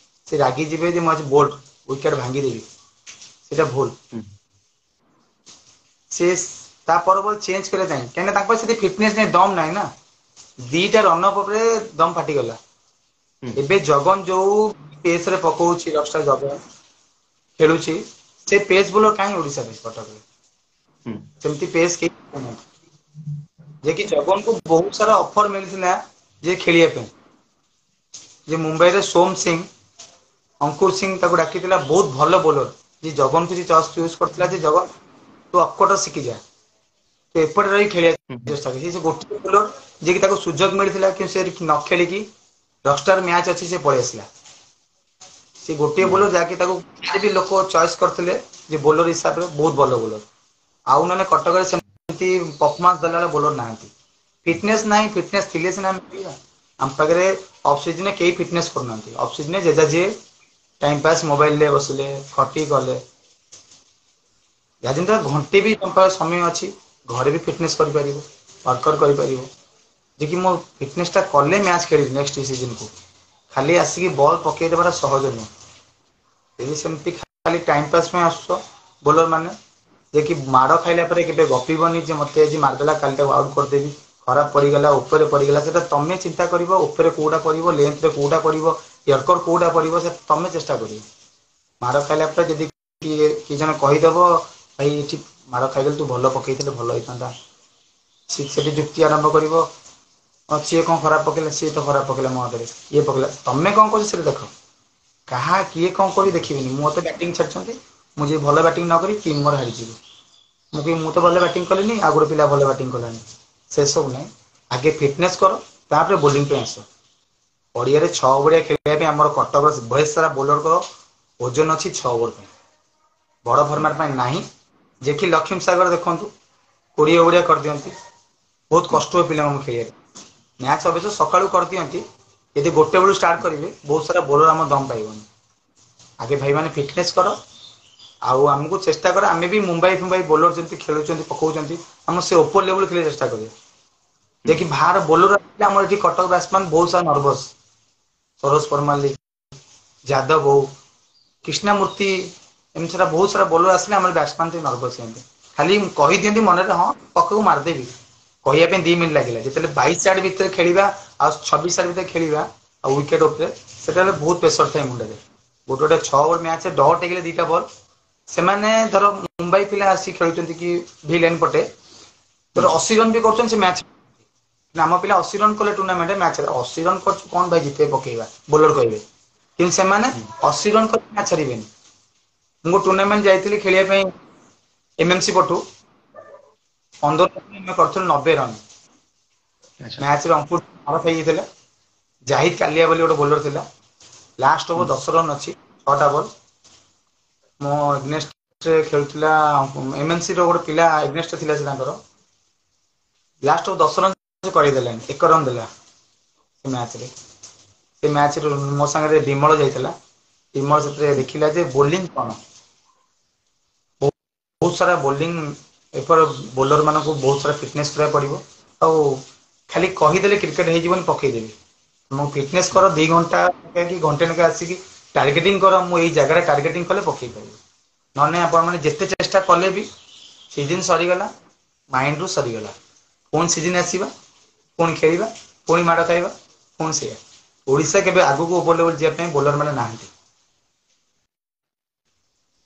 ସେ ରାଗିଯିବେ ଯେ ମୁଁ ଆଜି ବୋଲ୍ଡ ୱିକେଟ ଭାଙ୍ଗିଦେବି, ସେଇଟା ଭୁଲ। ସେ ତା ପର ବଲ୍ ଚେଞ୍ଜ କରିବା ପାଇଁ, କାହିଁକିନା ତାଙ୍କ ସେଠି ଫିଟନେସ୍ ନାହିଁ, ଦମ ନାହିଁ ନା। 2ଟା ରନ୍ ଅପ୍ ଉପରେ ଦମ ଫାଟିଗଲା। ଏବେ ଜଗନ ଯୋଉ ପେସରେ ପକଉଛି, ରକ୍ସର ଜଗନ ଖେଳୁଛି, ସେ ପେସ୍ ବୋଲର କାହିଁ ଓଡିଶାରେ କଟକରେ ସେମିତି ପେସ୍ କେହି ପକଉନାହାନ୍ତି। ଯେ କି ଜଗନକୁ ବହୁତ ସାରା ଅଫର ମିଳିଥିଲା ଯେ ଖେଳିବା ପାଇଁ, ଯେ ମୁମ୍ବାଇରେ ସୋମ ସିଂ, ଅଙ୍କୁର ସିଂ ତାକୁ ଡାକିଥିଲା, ବହୁତ ଭଲ ବୋଲର। ଯେ ଜଗନକୁ ସେ ଚୁଜ୍ କରିଥିଲା ଯେ ଜଗନ ତୁ ଅପକଟର ଶିଖିଯା, ତୁ ଏପଟେ ରହି ଖେଳିବା ଚେଷ୍ଟା କର। ସେ ଗୋଟିଏ ବୋଲର ଯିଏକି ତାକୁ ସୁଯୋଗ ମିଳିଥିଲା, କିନ୍ତୁ ସେ ନ ଖେଳିକି ରକଷ୍ଟାର ମ୍ୟାଚ୍ ଅଛି ସେ ପଳେଇ ଆସିଲା। ସେ ଗୋଟିଏ ବୋଲର ଯାହାକି ତାକୁ ବି ଲୋକ ଚଏସ୍ କରିଥିଲେ ଯେ ବୋଲର ହିସାବରେ ବହୁତ ଭଲ ବୋଲର। ଆଉ ନହେଲେ କଟକରେ ସେମିତି ପରଫର୍ମାନ୍ସ ଦେଲା ବେଳେ ବୋଲର ନାହାନ୍ତି, ଫିଟନେସ୍ ନାହିଁ। ଫିଟନେସ୍ ଥିଲେ ସିନା ଆମେ ଖେଳିବା। ଆମ ପାଖରେ ଅଫ୍ ସିଜନରେ କେହି ଫିଟନେସ୍ କରୁନାହାନ୍ତି। ଅଫ୍ ସିଜନରେ ଯେଝା ଯିଏ ଟାଇମ୍ ପାସ୍ ମୋବାଇଲରେ ବସିଲେ, ଖଟି କଲେ। ଯାହା ଘଣ୍ଟେ ବି ତମ ପାଖରେ ସମୟ ଅଛି, ଘରେ ବି ଫିଟନେସ୍ କରିପାରିବ, ୱାର୍କଆଉଟ୍ କରିପାରିବ। ଯେ କି ମୋ ଫିଟନେସଟା କଲେ ମ୍ୟାଚ୍ ଖେଳିବି ନେକ୍ସଟ ସିଜନକୁ। ଖାଲି ଆସିକି ବଲ୍ ପକେଇ ଦେବାଟା ସହଜ ନୁହଁ। ଯଦି ସେମିତି ଖାଲି ଟାଇମ୍ ପାସ୍ ପାଇଁ ଆସୁଛ ବୋଲର ମାନେ, ଯେ କି ମାଡ଼ ଖାଇଲା ପରେ କେବେ ଗପିବନି ଯେ ମତେ ଆଜି ମାରିଦେଲା କାଲି ତାକୁ ଆଉଟ୍ କରିଦେବି, ଖରାପ ପଡ଼ିଗଲା, ଉପରେ ପଡ଼ିଗଲା। ସେଟା ତମେ ଚିନ୍ତା କରିବ ଉପରେ କୋଉଟା ପଡ଼ିବ, ଲେନ୍ଥରେ କୋଉଟା ପଡ଼ିବ, ୟର୍କର କୋଉଟା ପଡ଼ିବ, ସେ ତମେ ଚେଷ୍ଟା କରିବ। ମାଡ଼ ଖାଇଲା ପରେ ଯଦି କିଏ ଜଣେ କହିଦବ ଭାଇ ଏଠି ମାଡ଼ ଖାଇଗଲେ ତୁ ଭଲ ପକେଇଥିଲେ ଭଲ ହେଇଥାନ୍ତା, ସେଠି ଯୁକ୍ତି ଆରମ୍ଭ କରିବ, ସିଏ କଣ ଖରାପ ପକେଇଲା, ସିଏ ତ ଖରାପ ପକେଇଲା ମୋ ଆଗରେ, ଇଏ ପକେଇଲା, ତମେ କଣ କରୁଛ ସେଟା ଦେଖ। କାହା କିଏ କଣ କରି ଦେଖିବେନି। ମୁଁ ତ ବ୍ୟାଟିଂ ଛାଡିଛନ୍ତି, ମୁଁ ଯଦି ଭଲ ବ୍ୟାଟିଂ ନ କରି ଟିମ୍ ମୋର ହାରିଯିବ। ମୁଁ କହିବି ମୁଁ ତ ଭଲ ବ୍ୟାଟିଂ କଲିନି, ଆଉ ଗୋଟେ ପିଲା ଭଲ ବ୍ୟାଟିଂ କଲାନି, ସେସବୁ ନାହିଁ। ଆଗେ ଫିଟନେସ୍ କର, ତାପରେ ବୋଲିଂ ପାଇଁ ଆସ। ପଡ଼ିଆରେ 6 ଓଭରିଆ ଖେଳିବା ପାଇଁ ଆମର କଟକର ବହେ ସାରା ବୋଲରଙ୍କ ଓଜନ ଅଛି 6 ଓଭର ପାଇଁ, ବଡ଼ ଫର୍ମାଟ ପାଇଁ ନାହିଁ। ଯେ କି ଲକ୍ଷ୍ମୀ ସାଗର ଦେଖନ୍ତୁ 20 ଓଭରିଆ କରିଦିଅନ୍ତି, ବହୁତ କଷ୍ଟ ହୁଏ ପିଲାମାନଙ୍କୁ ଖେଳିବାକୁ। ମ୍ୟାଚ୍ ଅବଶ୍ୟ ସକାଳୁ କରିଦିଅନ୍ତି, ଯଦି ଗୋଟେ ବେଳୁ ଷ୍ଟାର୍ଟ କରିବେ ବହୁତ ସାରା ବୋଲର ଆମ ଦମ ପାଇବନି। ଆଗେ ଭାଇମାନେ ଫିଟନେସ୍ କର, ଆଉ ଆମକୁ ଚେଷ୍ଟା କର। ଆମେ ବି ମୁମ୍ବାଇ ଫୁମ୍ବାଇ ବୋଲର ଯେମିତି ଖେଳୁଛନ୍ତି ପକଉଛନ୍ତି, ଆମ ସେ ଉପର ଲେବୁଲ ଖେଳିବାକୁ ଚେଷ୍ଟା କରିବା। ଯେ କି ବାହାର ବୋଲର ଆସିଲେ ଆମର ଏଠି କଟକ ବ୍ୟାଟ୍ସମ୍ୟାନ ବହୁତ ସାରା ନର୍ଭସ, ସରୋଜ ପରମାଲି, ଯାଦବ ହଉ, କୃଷ୍ଣମୂର୍ତ୍ତି, ଏମିତି ସାରା ବହୁତ ସାରା ବୋଲର ଆସିଲେ ଆମର ବ୍ୟାଟ୍ସମ୍ୟାନ ଟିକେ ନର୍ଭସ ହୁଅନ୍ତି। ଖାଲି କହିଦିଅନ୍ତି ମନରେ ହଁ ପక్కକୁ ମାରିଦେବି, କହିବା ପାଇଁ 2 ମିନିଟ୍ ଲାଗିଲା। ଯେତେବେଳେ 22 ୟାର୍ଡ ଭିତରେ ଖେଳିବା ଆଉ 26 ୟାର୍ଡ ଭିତରେ ଖେଳିବା ଆଉ ୱିକେଟ ଉପରେ, ସେତେବେଳେ ବହୁତ ପ୍ରେସର ଥାଏ ମୁଣ୍ଡରେ। ଗୋଟେ ଗୋଟେ 6 ଓଭର ମ୍ୟାଚ୍ ଡଟ୍ ହେଇଗଲେ 2ଟା ବଲ୍, ସେମାନେ ଧର ମୁମ୍ବାଇ ପିଲା ଆସି ଖେଳୁଛନ୍ତି କି ଭି ଲାଇନ୍ ପଟେ, ଧର 80 ରନ୍ ବି କରୁଛନ୍ତି ସେ ମ୍ୟାଚ୍। ଆମ ପିଲା 80 ରନ୍ କଲେ ଟୁର୍ଣ୍ଣାମେଣ୍ଟ ମ୍ୟାଚରେ, 80 ରନ୍ କରିଛୁ କଣ ଭାଇ ଜିତେଇ ପକେଇବା, ବୋଲର କହିବେ। କିନ୍ତୁ ସେମାନେ 80 ରନ୍ କରି ମ୍ୟାଚ୍ ହାରିବେନି। ମୁଁ ଟୁର୍ଣ୍ଣାମେଣ୍ଟ ଯାଇଥିଲି ଖେଳିବା ପାଇଁ ଏମଏମସି ପଟୁ, 15 ଆମେ କରିଥିଲୁ 90 ରନ୍। ମ୍ୟାଚରେ ଅଙ୍କୁର ଆଉଟ୍ ହେଇଯାଇଥିଲା। ଜାହିଦ କାଲିଆ ବୋଲି ଗୋଟେ ବୋଲର ଥିଲା। ଲାଷ୍ଟ ଓଭର 10 ରନ୍ ଅଛି, ଛଅଟା ବଲ୍। ମୋ ଏଗନେଷ୍ଟରେ ଖେଳୁଥିଲା ଏମଏନସି ର ଗୋଟେ ପିଲା, ଏଗନେଷ୍ଟ ଥିଲା ସେ ତାଙ୍କର। ଲାଷ୍ଟ 10 ରନ୍ ସେ କରିଦେଲାନି, 1 ରନ୍ ଦେଲା ସେ ମ୍ୟାଚରେ। ସେ ମ୍ୟାଚରେ ମୋ ସାଙ୍ଗରେ ବିମଳ ଯାଇଥିଲା। ବିମଳ ସେଥିରେ ଦେଖିଲା ଯେ ବୋଲିଂ କଣ। ବହୁତ ସାରା ବୋଲିଂ ଏପର ବୋଲର ମାନଙ୍କୁ ବହୁତ ସାରା ଫିଟନେସ କରିବାକୁ ପଡିବ। ଆଉ ଖାଲି କହିଦେଲେ କ୍ରିକେଟ ହେଇଯିବନି ପକେଇଦେବି। ମୁଁ ଫିଟନେସ କର, 2 ଘଣ୍ଟା କି ଘଣ୍ଟେ ଲେଖା ଆସିକି ଟାର୍ଗେଟିଂ କର, ମୁଁ ଏଇ ଜାଗାରେ ଟାର୍ଗେଟିଂ କଲେ ପକେଇ ପାରିବି। ନହେଲେ ଆପଣ ମାନେ ଯେତେ ଚେଷ୍ଟା କଲେ ବି ସିଜନ ସରିଗଲା, ମାଇଣ୍ଡରୁ ସରିଗଲା। ପୁଣି ସିଜିନ ଆସିବା, ପୁଣି ଖେଳିବା, ପୁଣି ମାଡ଼ ଖାଇବା, ପୁଣି ସେଇଆ। ଓଡିଶା କେବେ ଆଗକୁ ଓଭର ଲେବୁଲ ଯିବା ପାଇଁ ବୋଲର ମାନେ ନାହାନ୍ତି।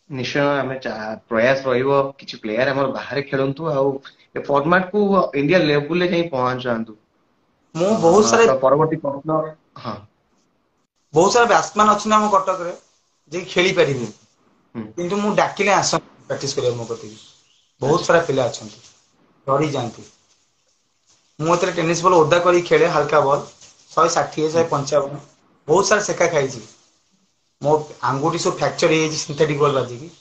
ନିଶ୍ଚୟ, ଆମେ ପ୍ରୟାସ ରହିବ କିଛି ପ୍ଲେୟାର ଆମର ବାହାରେ ଖେଳନ୍ତୁ ଆଉ ଏ ଫର୍ମାଟ କୁ ଇଣ୍ଡିଆ ଲେବୁଲରେ ଯାଇ ପହଞ୍ଚାନ୍ତୁ। ମୁଁ ବହୁତ ସାରା ତ ପରବର୍ତ୍ତୀ ପ୍ରଶ୍ନ, ହଁ। ବହୁତ ସାରା ବ୍ୟାଟ୍ସମ୍ୟାନ ଅଛନ୍ତି ଆମ କଟକରେ, ଯିଏ ଖେଳି ପାରିବେ। କିନ୍ତୁ ମୁଁ ଡାକିଲେ ଆସନ୍ତି ପ୍ରାକ୍ଟିସ କରିବାକୁ ମୋ କତିକି। ବହୁତ ସାରା ପିଲା ଅଛନ୍ତି, ଡରି ଯାଆନ୍ତି। ମୁଁ ଏଥିରେ ଟେନିସ୍ ବଲ୍ ଓଦା କରି ଖେଳେ, ହାଲକା ବଲ୍, 160, 155। ବହୁତ ସାରା ସେକା ଖାଇଛି। ମୋ ଆଙ୍ଗୁଠି ସବୁ ଫ୍ରାକ୍ଚର ହେଇଯାଇଛି ସିନ୍ଥେଟିକ୍ ବଲ୍ ବାଜିକି।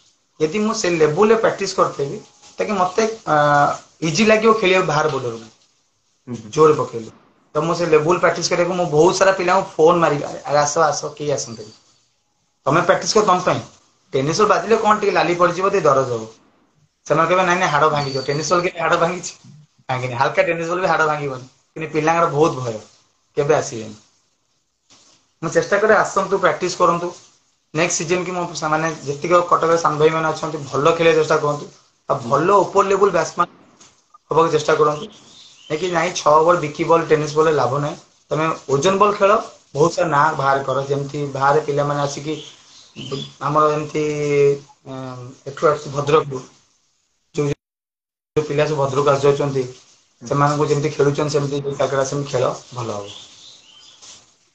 ଯଦି ମୁଁ ସେ ଲେବୁଲରେ ପ୍ରାକ୍ଟିସ କରିଥିବି, ତାକି ମତେ ଇଜି ଲାଗିବ ଖେଳିବାକୁ ବାହାର ବୋଲରକୁ ଜୋରେ ପକେଇଲେ। ତ ମୁଁ ସେ ଲେବୁଲ ପ୍ରାକ୍ଟିସ କରିବାକୁ ମୁଁ ବହୁତ ସାରା ପିଲାଙ୍କୁ ଫୋନ ମାରିବି, ଆରେ ଆସ ଆସ, କେହି ଆସନ୍ତିନି। ତମେ ପ୍ରାକ୍ଟିସ କର ତମ ପାଇଁ। ଟେନିସ୍ ବଲ୍ ବାଜିଲେ କଣ ଟିକେ ଲାଲି ପଡିଯିବ, ଟିକେ ଦରଜ ହବ। ସେମାନେ କହିବେ, ନାଇଁ ନାଇଁ, ହାଡ ଭାଙ୍ଗିଯିବ। ଟେନିସ୍ ବଲ୍ କେବେ ହାଡ ଭାଙ୍ଗିଛି? ଭାଙ୍ଗିନି। ହାଲକା ଟେନିସ୍ ବଲ୍ ବି ହାଡ ଭାଙ୍ଗିବନି। କିନ୍ତୁ ପିଲାଙ୍କର ବହୁତ ଭୟ, କେବେ ଆସିବେନି। ମୁଁ ଚେଷ୍ଟା କରେ, ଆସନ୍ତୁ, ପ୍ରାକ୍ଟିସ କରନ୍ତୁ। ନେକ୍ସଟ ସିଜନ କି ମୋ ସେମାନେ ଯେତିକି କଟକରେ ସାନ ଭାଇ ମାନେ ଅଛନ୍ତି, ଭଲ ଖେଳିବାକୁ ଚେଷ୍ଟା କରନ୍ତୁ ଆଉ ଭଲ ଉପର ଲେବୁଲ ବ୍ୟାଟ୍ସମ୍ୟାନ ହବାକୁ ଚେଷ୍ଟା କରନ୍ତୁ। କି ନାଇଁ, ଛଅ ବଲ୍ ବିକି ବଲ୍, ଟେନିସ୍ ବଲ୍ ଲାଭ ନାହିଁ। ତମେ ଓଜନ ବଲ୍ ଖେଳ, ବହୁତ ସାରା ନାଁ ବାହାର କର। ଯେମିତି ବାହାରେ ପିଲାମାନେ ଆସିକି ଆମର ଏମିତି ଏଠୁ ଆସୁଛି ଭଦ୍ରକରୁ ଯୋଉ ଯୋଉ ପିଲା ସବୁ ଭଦ୍ରକ ଆସିଯାଉଛନ୍ତି, ସେମାନଙ୍କୁ ଯେମିତି ଖେଳୁଛନ୍ତି ସେମିତି ସେମିତି ଖେଳ ଭଲ ହବ।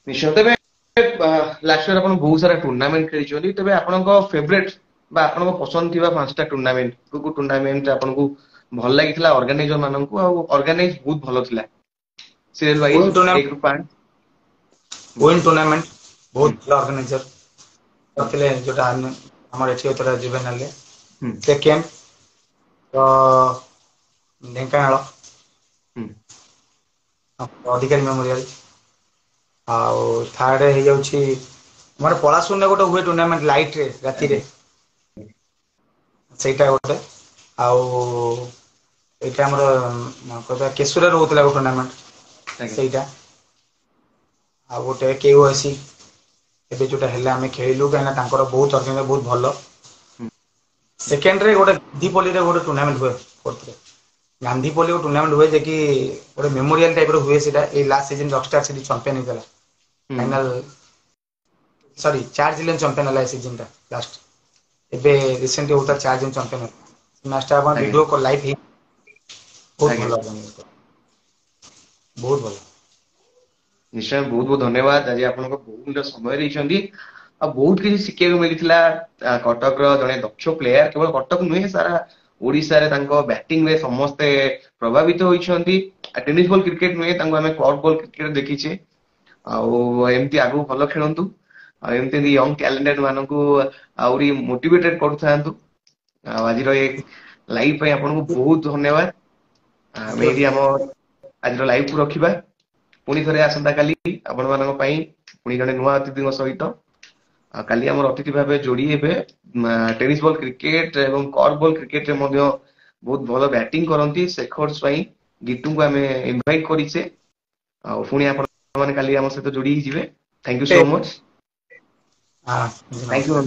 ନିଶ୍ଚୟ। ତେବେ ଲାଷ୍ଟ ଇୟର ଆପଣ ବହୁତ ସାରା ଟୁର୍ଣ୍ଣାମେଣ୍ଟ ଖେଳିଛନ୍ତି। ତେବେ ଆପଣଙ୍କ ଫେଭରେଟ ବା ଆପଣଙ୍କ ପସନ୍ଦ ଥିବା ପାଞ୍ଚଟା ଟୁର୍ଣ୍ଣାମେଣ୍ଟ, କୋଉ କୋଉ ଟୁର୍ଣ୍ଣାମେଣ୍ଟ ଆପଣଙ୍କୁ ଭଲ ଲାଗିଥିଲା, ଅର୍ଗାନାଇଜର ମାନଙ୍କୁ ଆଉ ଅର୍ଗାନାଇଜ ବହୁତ ଭଲ ଥିଲା, ସିରିଏଲ ୱାଇଜ, 1ରୁ 5? ୱିନ୍ ଟୁର୍ଣ୍ଣାମେଣ୍ଟ ବହୁତ ଭଲ ଅର୍ଗାନାଇଜର କରିଥିଲେ, ଯୋଉଟା ଆମର ଏଠି ହଉଥିଲା ଜୁଭେନାଲରେ। ସେକେଣ୍ଡ ତ ଢେଙ୍କାନାଳ ଅଧିକାରୀ ମେମୋରିଆଲ। ଆଉ ଥାର୍ଡ ହେଇଯାଉଛି ମୋର ପଳାଶୁଣିରେ ଗୋଟେ ହୁଏ ଟୁର୍ଣ୍ଣାମେଣ୍ଟ, ଲାଇଟ ରେ ରାତିରେ, ସେଇଟା ଗୋଟେ। ଆଉ ଏଇଟା ଆମର କେଶୁରାରେ ରହୁଥିଲା ଗୋଟେ ଟୁର୍ଣ୍ଣାମେଣ୍ଟ, ସେଇଟା। ଆଉ ଗୋଟେ କେୱାଇସି ଏବେ ଯୋଉଟା ହେଲା, ଆମେ ଖେଳିଲୁ, କାହିଁକିନା ତାଙ୍କର ବହୁତ ଅର୍ଗାନାଇଜର ବହୁତ ଭଲ। ସେକେଣ୍ଡରେ ଗୋଟେ ଗାନ୍ଧୀପଲ୍ଲୀରେ ଗୋଟେ ଟୁର୍ଣ୍ଣାମେଣ୍ଟ ହୁଏ। ଫୋର୍ଥରେ ଗାନ୍ଧୀପଲ୍ଲୀ ଗୋଟେ ଟୁର୍ଣ୍ଣାମେଣ୍ଟ ହୁଏ, ଯେ କି ଗୋଟେ ମେମୋରିଆଲ ଟାଇପ ର ହୁଏ ସେଇଟା। ଏଇ ଲାଷ୍ଟ ସିଜନ ରକଷ୍ଟାର ସେଠି ଚାମ୍ପିୟନ ହେଇଥିଲା ଫାଇନାଲ, ସରି, ଚାର୍ଜ ଇଲେଭେନ ଚାମ୍ପିୟନ ହେଲା ଏ ସିଜନ ଟା। ଲାଷ୍ଟ ଏବେ ରିସେଣ୍ଟ ହଉଥିଲା, ଚାର୍ଜ ଚାମ୍ପିୟନ ମ୍ୟାଚଟା ଆପଣ ଭିଡିଓ କଲ ଲାଇଭ ହେଇ ବହୁତ ଭଲ, ବହୁତ ଭଲ। ନିଶ୍ଚୟ, ବହୁତ ବହୁତ ଧନ୍ୟବାଦ। ଆଜି ଆପଣଙ୍କ ବହୁମୂଲ୍ୟ ସମୟ ଦେଇଛନ୍ତି ଆଉ ବହୁତ କିଛି ଶିଖିବାକୁ ମିଳିଥିଲା। କଟକର ଜଣେ ଦକ୍ଷ ପ୍ଲେୟାର, କେବଳ କଟକ ନୁହେଁ, ସାରା ଓଡିଶାରେ ତାଙ୍କ ବ୍ୟାଟିଂ ରେ ସମସ୍ତେ ପ୍ରଭାବିତ ହୋଇଛନ୍ତି। ଟେନିସ୍ ବଲ୍ କ୍ରିକେଟ ନୁହେଁ, ତାଙ୍କୁ ଆମେ କର୍କ ବଲ୍ କ୍ରିକେଟ ଦେଖିଛେ। ଆଉ ଏମିତି ଆଗକୁ ଭଲ ଖେଳନ୍ତୁ ଆଉ ଏମିତି ୟଙ୍ଗ ଟ୍ୟାଲେଣ୍ଟେଡ ମାନଙ୍କୁ ଆହୁରି ମୋଟିଭେଟେଡ କରୁଥାନ୍ତୁ। ଆଉ ଆଜିର ଏ ଲାଇଭ ପାଇଁ ଆପଣଙ୍କୁ ବହୁତ ଧନ୍ୟବାଦ। ଆମେ ଏଇଠି ଆମ ଆଜିର ଲାଇଭ କୁ ରଖିବା। ପୁଣି ଥରେ ଆସନ୍ତା କାଲି ଆପଣ ମାନଙ୍କ ପାଇଁ ପୁଣି ଜଣେ ନୂଆ ଅତିଥିଙ୍କ ସହିତ। କାଲି ଆମର ଅତିଥି ଭାବେ ଯୋଡି ହେବେ, ଟେନିସ୍ ବଲ୍ କ୍ରିକେଟ ଏବଂ କର୍କ ବଲ୍ କ୍ରିକେଟରେ ମଧ୍ୟ ବହୁତ ଭଲ ବ୍ୟାଟିଂ କରନ୍ତି, ଶେଖର ସ୍ୱାଇଁ ଗିଟୁଙ୍କୁ ଆମେ ଇନଭାଇଟ କରିଛେ। ଆଉ ପୁଣି ଆପଣ ମାନେ କାଲି ଆମ ସହିତ ଯୋଡି ହେଇଯିବେ। Thank you so much. Thank you.